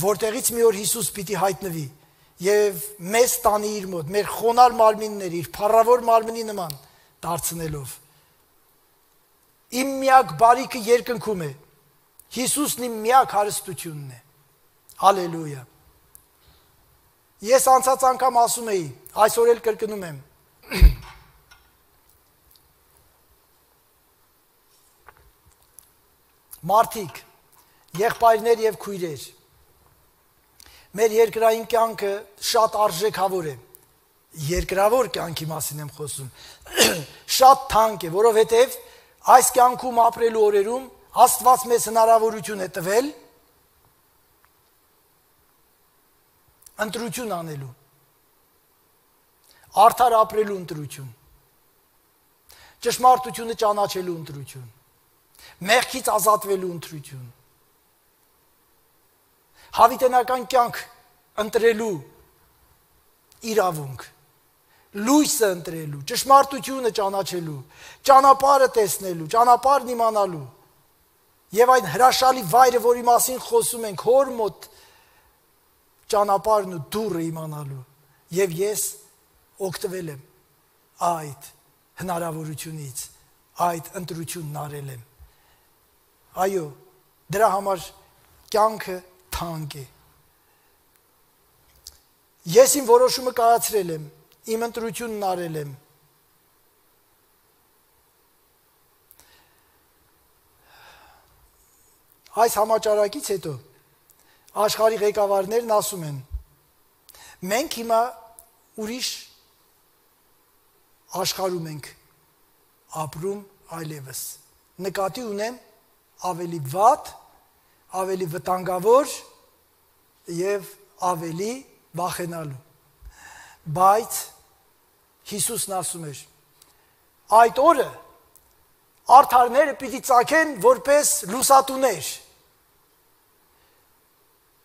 որտեղից մի օր Հիսուս պիտի հայտնվի եւ մեզ տանի իր մոտ, մեր խոնար մարմինները իր փառավոր մարմնի նման դարձնելով։ Իմ միակ բարիքը երկնքում է։ Հիսուսն իմ միակ հարստությունն է։ Հալելույա։ Ես անցած անգամ ասում էի, այսօր էլ կրկնում եմ։ Մարդիկ, եղբայրներ եւ քույրեր, մեր երկրային կյանքը շատ արժեքավոր է։ Երկրավոր կյանքի մասին եմ խոսում։ Շատ թանկ է, որովհետև այս կյանքում ապրելու օրերում Աստված մեզ հնարավորություն է տվել ընտրություն անելու։ Արդար ապրելու ընտրություն։ Ճշմարտությունը ճանաչելու ընտրություն։ Մեղքից ազատվելու ընտրություն։ Հավիտենական կյանք ընտրելու իրավունք, լույսը ընտրելու, ճշմարտությունը ճանաչելու, ճանապարհը տեսնելու, ճանապարհն իմանալու եւ այն հրաշալի վայրը, որի մասին խոսում ենք, հոր մոտ ճանապարհն ու դուռը իմանալու եւ ես օգտվել եմ այդ հնարավորությունից, այդ ընտրությունն արել եմ։ Այո, դրա համար կյանքը թանկ է։ Ես իմ որոշումը կայացրել եմ, իմ ընտրությունն արել եմ։ Այս համաճարակից հետո աշխարհի ղեկավարներն ասում են. մենք հիմա ուրիշ աշխարհում ենք ապրում այլևս։ Նկատի ունեն ավելի վատ, ավելի վտանգավոր եւ ավելի վախենալու։ Բայց Հիսուսն ասում էր. այդ օրը արդարները պիտի ծագեն որպես լուսատուներ։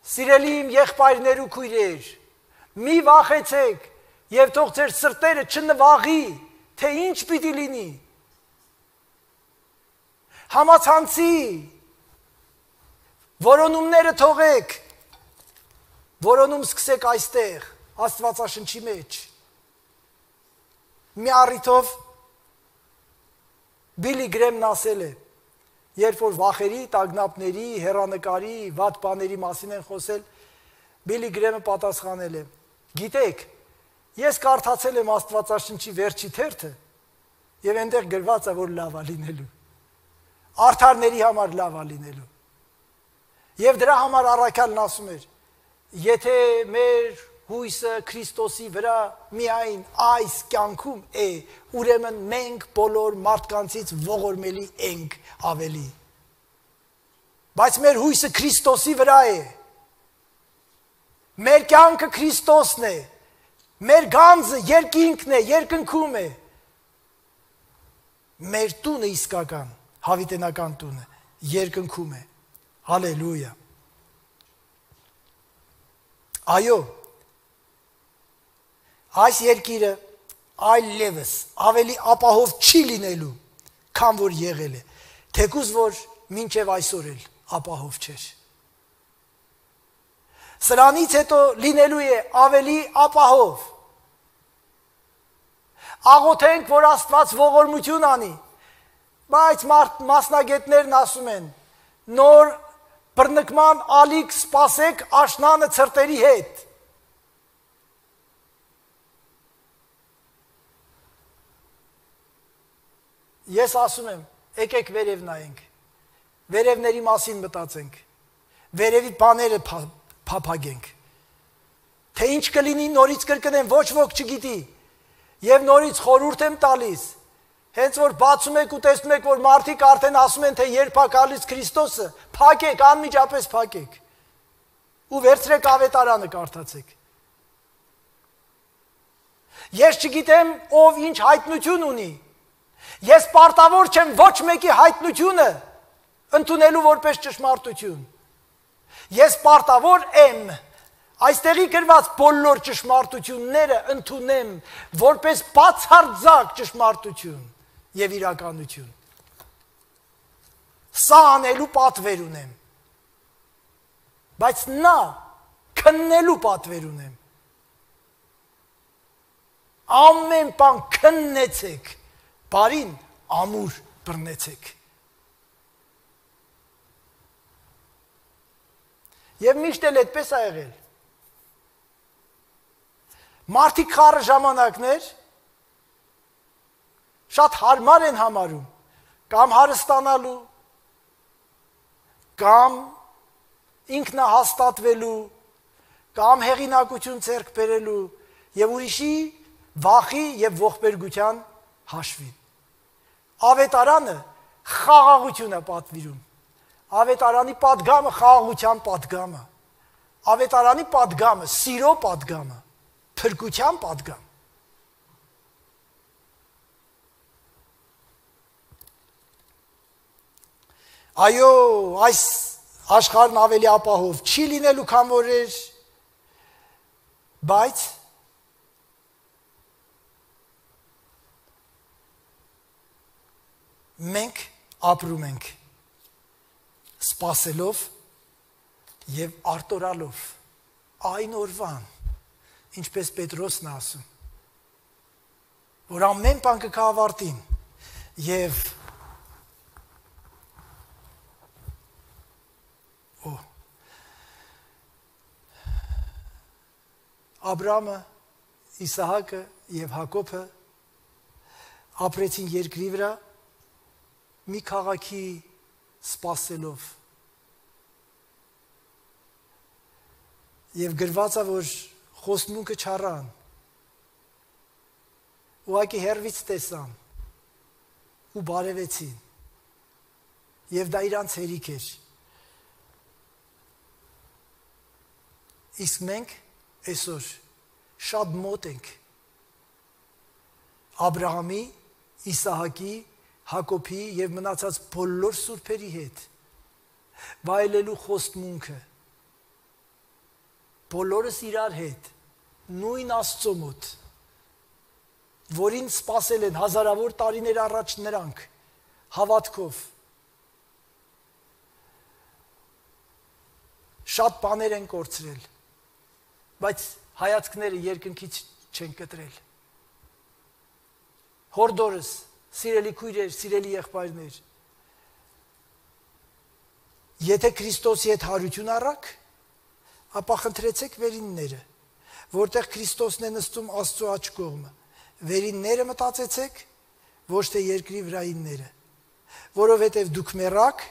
Սիրելի իմ եղբայրներ ու քույրեր, մի վախեցեք եւ թող ձեր սրտերը չնվաղի, թե ինչ պիտի լինի։ Համացանցի որոնումները թողեք, որոնում սկսեք այստեղ, Աստվածաշնչի մեջ։ Մի առիթով Բիլի Գրեմն ասել է, երբ որ վախերի, տագնապների, հեռանկարի, վատ բաների մասին են խոսել, Բիլի Գրեմը պատասխանել է. գիտեք, ես կարդացել եմ Աստվածաշնչի վերջի թերթը եւ այնտեղ գրված է, որ լավ է լինելու։ Արդարների համար լավ է լինելու։ Եվ դրա համար առաքյալն ասում էր. եթե մեր հույսը Քրիստոսի վրա միայն այս կյանքում է, ուրեմն մենք բոլոր մարդկանցից ողորմելի ենք ավելի։ Բայց մեր հույսը Քրիստոսի վրա է։ Մեր կյանքը Քրիստոսն է։ Մեր գանձը երկինքն է, երկնքում է։ Մեր տունը իսկական, հավիտենական տունը երկնքում է։ Հալելույա։ Այո, այս երկիրը այլևս ավելի ապահով չի լինելու, քան որ եղել է, թեկուզ որ մինչև այսօր էլ ապահով չէր։ Սրանից հետո լինելու է ավելի ապահով։ Աղոթենք, որ Աստված ողորմություն անի, բայց մասնագետներն ասում են, նոր բռնկման ալիք սպասեք աշնանը ցրտերի հետ։ Ես ասում եմ, եկեք վերև նայենք, վերևների մասին մտածենք, վերևի բաները փափագենք, թե ինչ կլինի նորից կրկնեմ, ոչ ոք չգիտի, և նորից խորհուրդ եմ տալիս, հենց որ բացում եք ու տեսնում եք, որ մարդիկ արդեն ասում են, թե երբ է գալիս Քրիստոսը, փակեք, անմիջապես փակեք, ու վերցրեք ավետարանը կարդացեք։ Ես չգիտեմ, ով ինչ հայտնություն ունի, ես պարտավոր չեմ ոչ մեկի հայտնությունը ընդունելու որպես ճշմարտություն։ Ես պարտավոր եմ այստեղի գրված բոլոր ճշմարտությունները ընդունեմ որպես բացարձակ ճշմարտություն և իրականություն։ Սա անելու պատվեր ունեմ, բայց նա քննելու պատվեր ունեմ։ Ամեն բան քննեցեք, բարին ամուր բռնեցեք։ Եվ միշտ էլ այդպես է եղել։ Մարդիկ խառը ժամանակներ շատ հարմար են համարում, կամ հարստանալու, կամ ինքնահաստատվելու, կամ հեղինակություն ձեռք բերելու և ուրիշի վախի և ողբերգության հաշվին։ Ավետարանը խաղաղություն է պատվիրում։ Ավետարանի պատգամը խաղաղության պատգամը, ավետարանի պատգամը սիրո պատգամը, փրկության պատգամ։ Այո, այս աշխարհն ավելի ապահով չի լինելու, քան որ էր, բայց մենք ապրում ենք սպասելով և արտորալով այն օրվան, ինչպես Պետրոսն ասում, որ ամեն բան կգա ավարտին և Աբրամը, Իսահակը և Հակոբը ապրեցին երկրի վրա մի քաղաքի սպասելով և գրված է, որ խոստմունքը չառան, ուղղակի հեռվից տեսան ու բարևեցին և դա իրանց հերիք էր։ Իսկ մենք այսօր շատ մոտ ենք Աբրահամի, Իսահակի, Հակոբի և մնացած բոլոր սուրբերի հետ վայելելու խոստմունքը, բոլորս իրար հետ, նույն Աստծո մոտ, որին սպասել են հազարավոր տարիներ առաջ նրանք, հավատքով, շատ բաներ են կորցրել, բայց հայացքները երկնքից չեն կտրել։ Հորդորս, սիրելի քույրեր, սիրելի եղբայրներ, եթե Քրիստոսի հետ հարություն առաք, ապա խնդրեցեք վերինները, որտեղ Քրիստոսն է նստում Աստծո աջ կողմը, վերինները մտածեցեք, ոչ թե երկրի վրայինները, որովհետև դուք մեռաք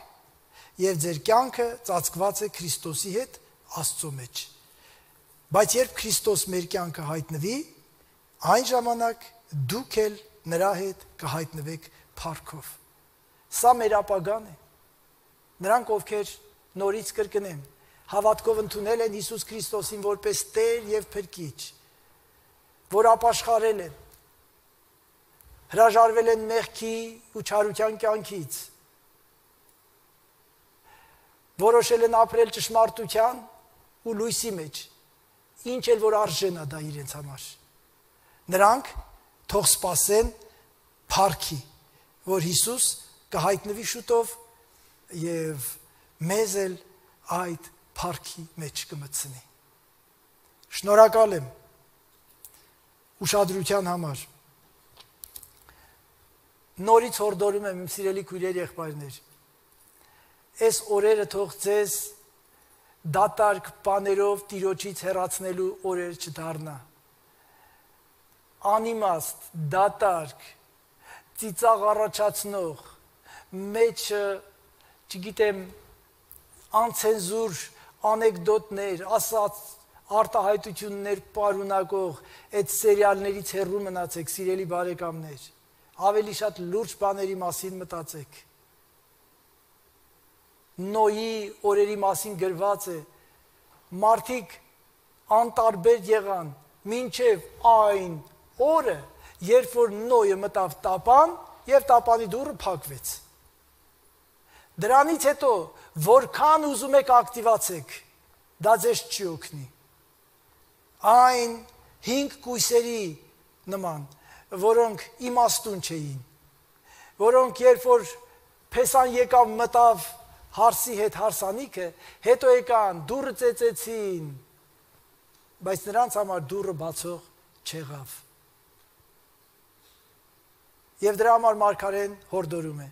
և ձեր կյանքը ծածկված է Քրիստոսի հետ Աստծո մեջ։ Բայց երբ Քրիստոս մեր կյանքը հայտնվի, այն ժամանակ դուք էլ նրա հետ կհայտնվեք փառքով։ Սա մեր ապագան է։ Նրանք, ովքեր նորից կրկնեմ, հավատքով ընդունել են Հիսուս Քրիստոսին որպես Տեր և Փրկիչ, որ ապաշխարել են, հրաժարվել են մեղքի ու չարության կյանքից, որոշել են ապրել ճշմարտության ու լույսի մեջ, ինչ էլ որ արժեն է դա իրենց համար, Նրանք թող սպասեն փառքի, որ Հիսուս կհայտնվի շուտով եւ մեզ էլ այդ փառքի մեջ կմտցնի։ Շնորհակալ եմ ուշադրության համար։ Նորից հորդորում եմ իմ սիրելի քույրեր, եղբայրներ, այս օրերը թող ձեզ դատարկ բաներով Տիրոջից հեռացնելու օրեր չդառնա։ Անիմաստ, դատարկ, ծիծաղ առաջացնող, մեջը, չգիտեմ, անցենզուր անեկդոտներ, ասած արտահայտություններ պարունակող այդ սերիալներից հեռու մնացեք, սիրելի բարեկամներ, ավելի շատ լուրջ բաների մասին մտածեք։ Նոյի օրերի մասին գրված է, մարդիկ անտարբեր եղան, մինչև այն օրը, երբ որ Նոյը մտավ տապան և տապանի դուռը փակվեց։ Դրանից հետո, որքան ուզում եք ակտիվացեք, դա ձեզ չի օգնի։ Այն 5 կույսերի նման, որոնք իմաստուն չէին, որոնք երբ որ Փեսան եկավ մտավ հարսի հետ հարսանիքը, հետո եկան, դուռը ծեծեցին, բայց նրանց համար դուռը բացող չեղավ։ Եվ դրա համար մարգարեն հորդորում է.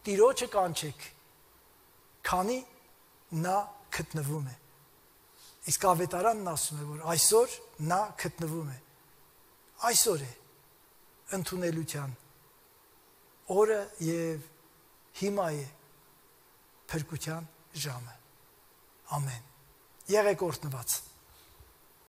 Տիրոջը կանչեք, քանի նա գտնվում է։ Իսկ ավետարանն ասում է, որ այսօր նա գտնվում է։ Այսօր է ընդունելության օրը եւ հիմա է փրկության ժամը։ Ամեն։ Եղեք օրհնված։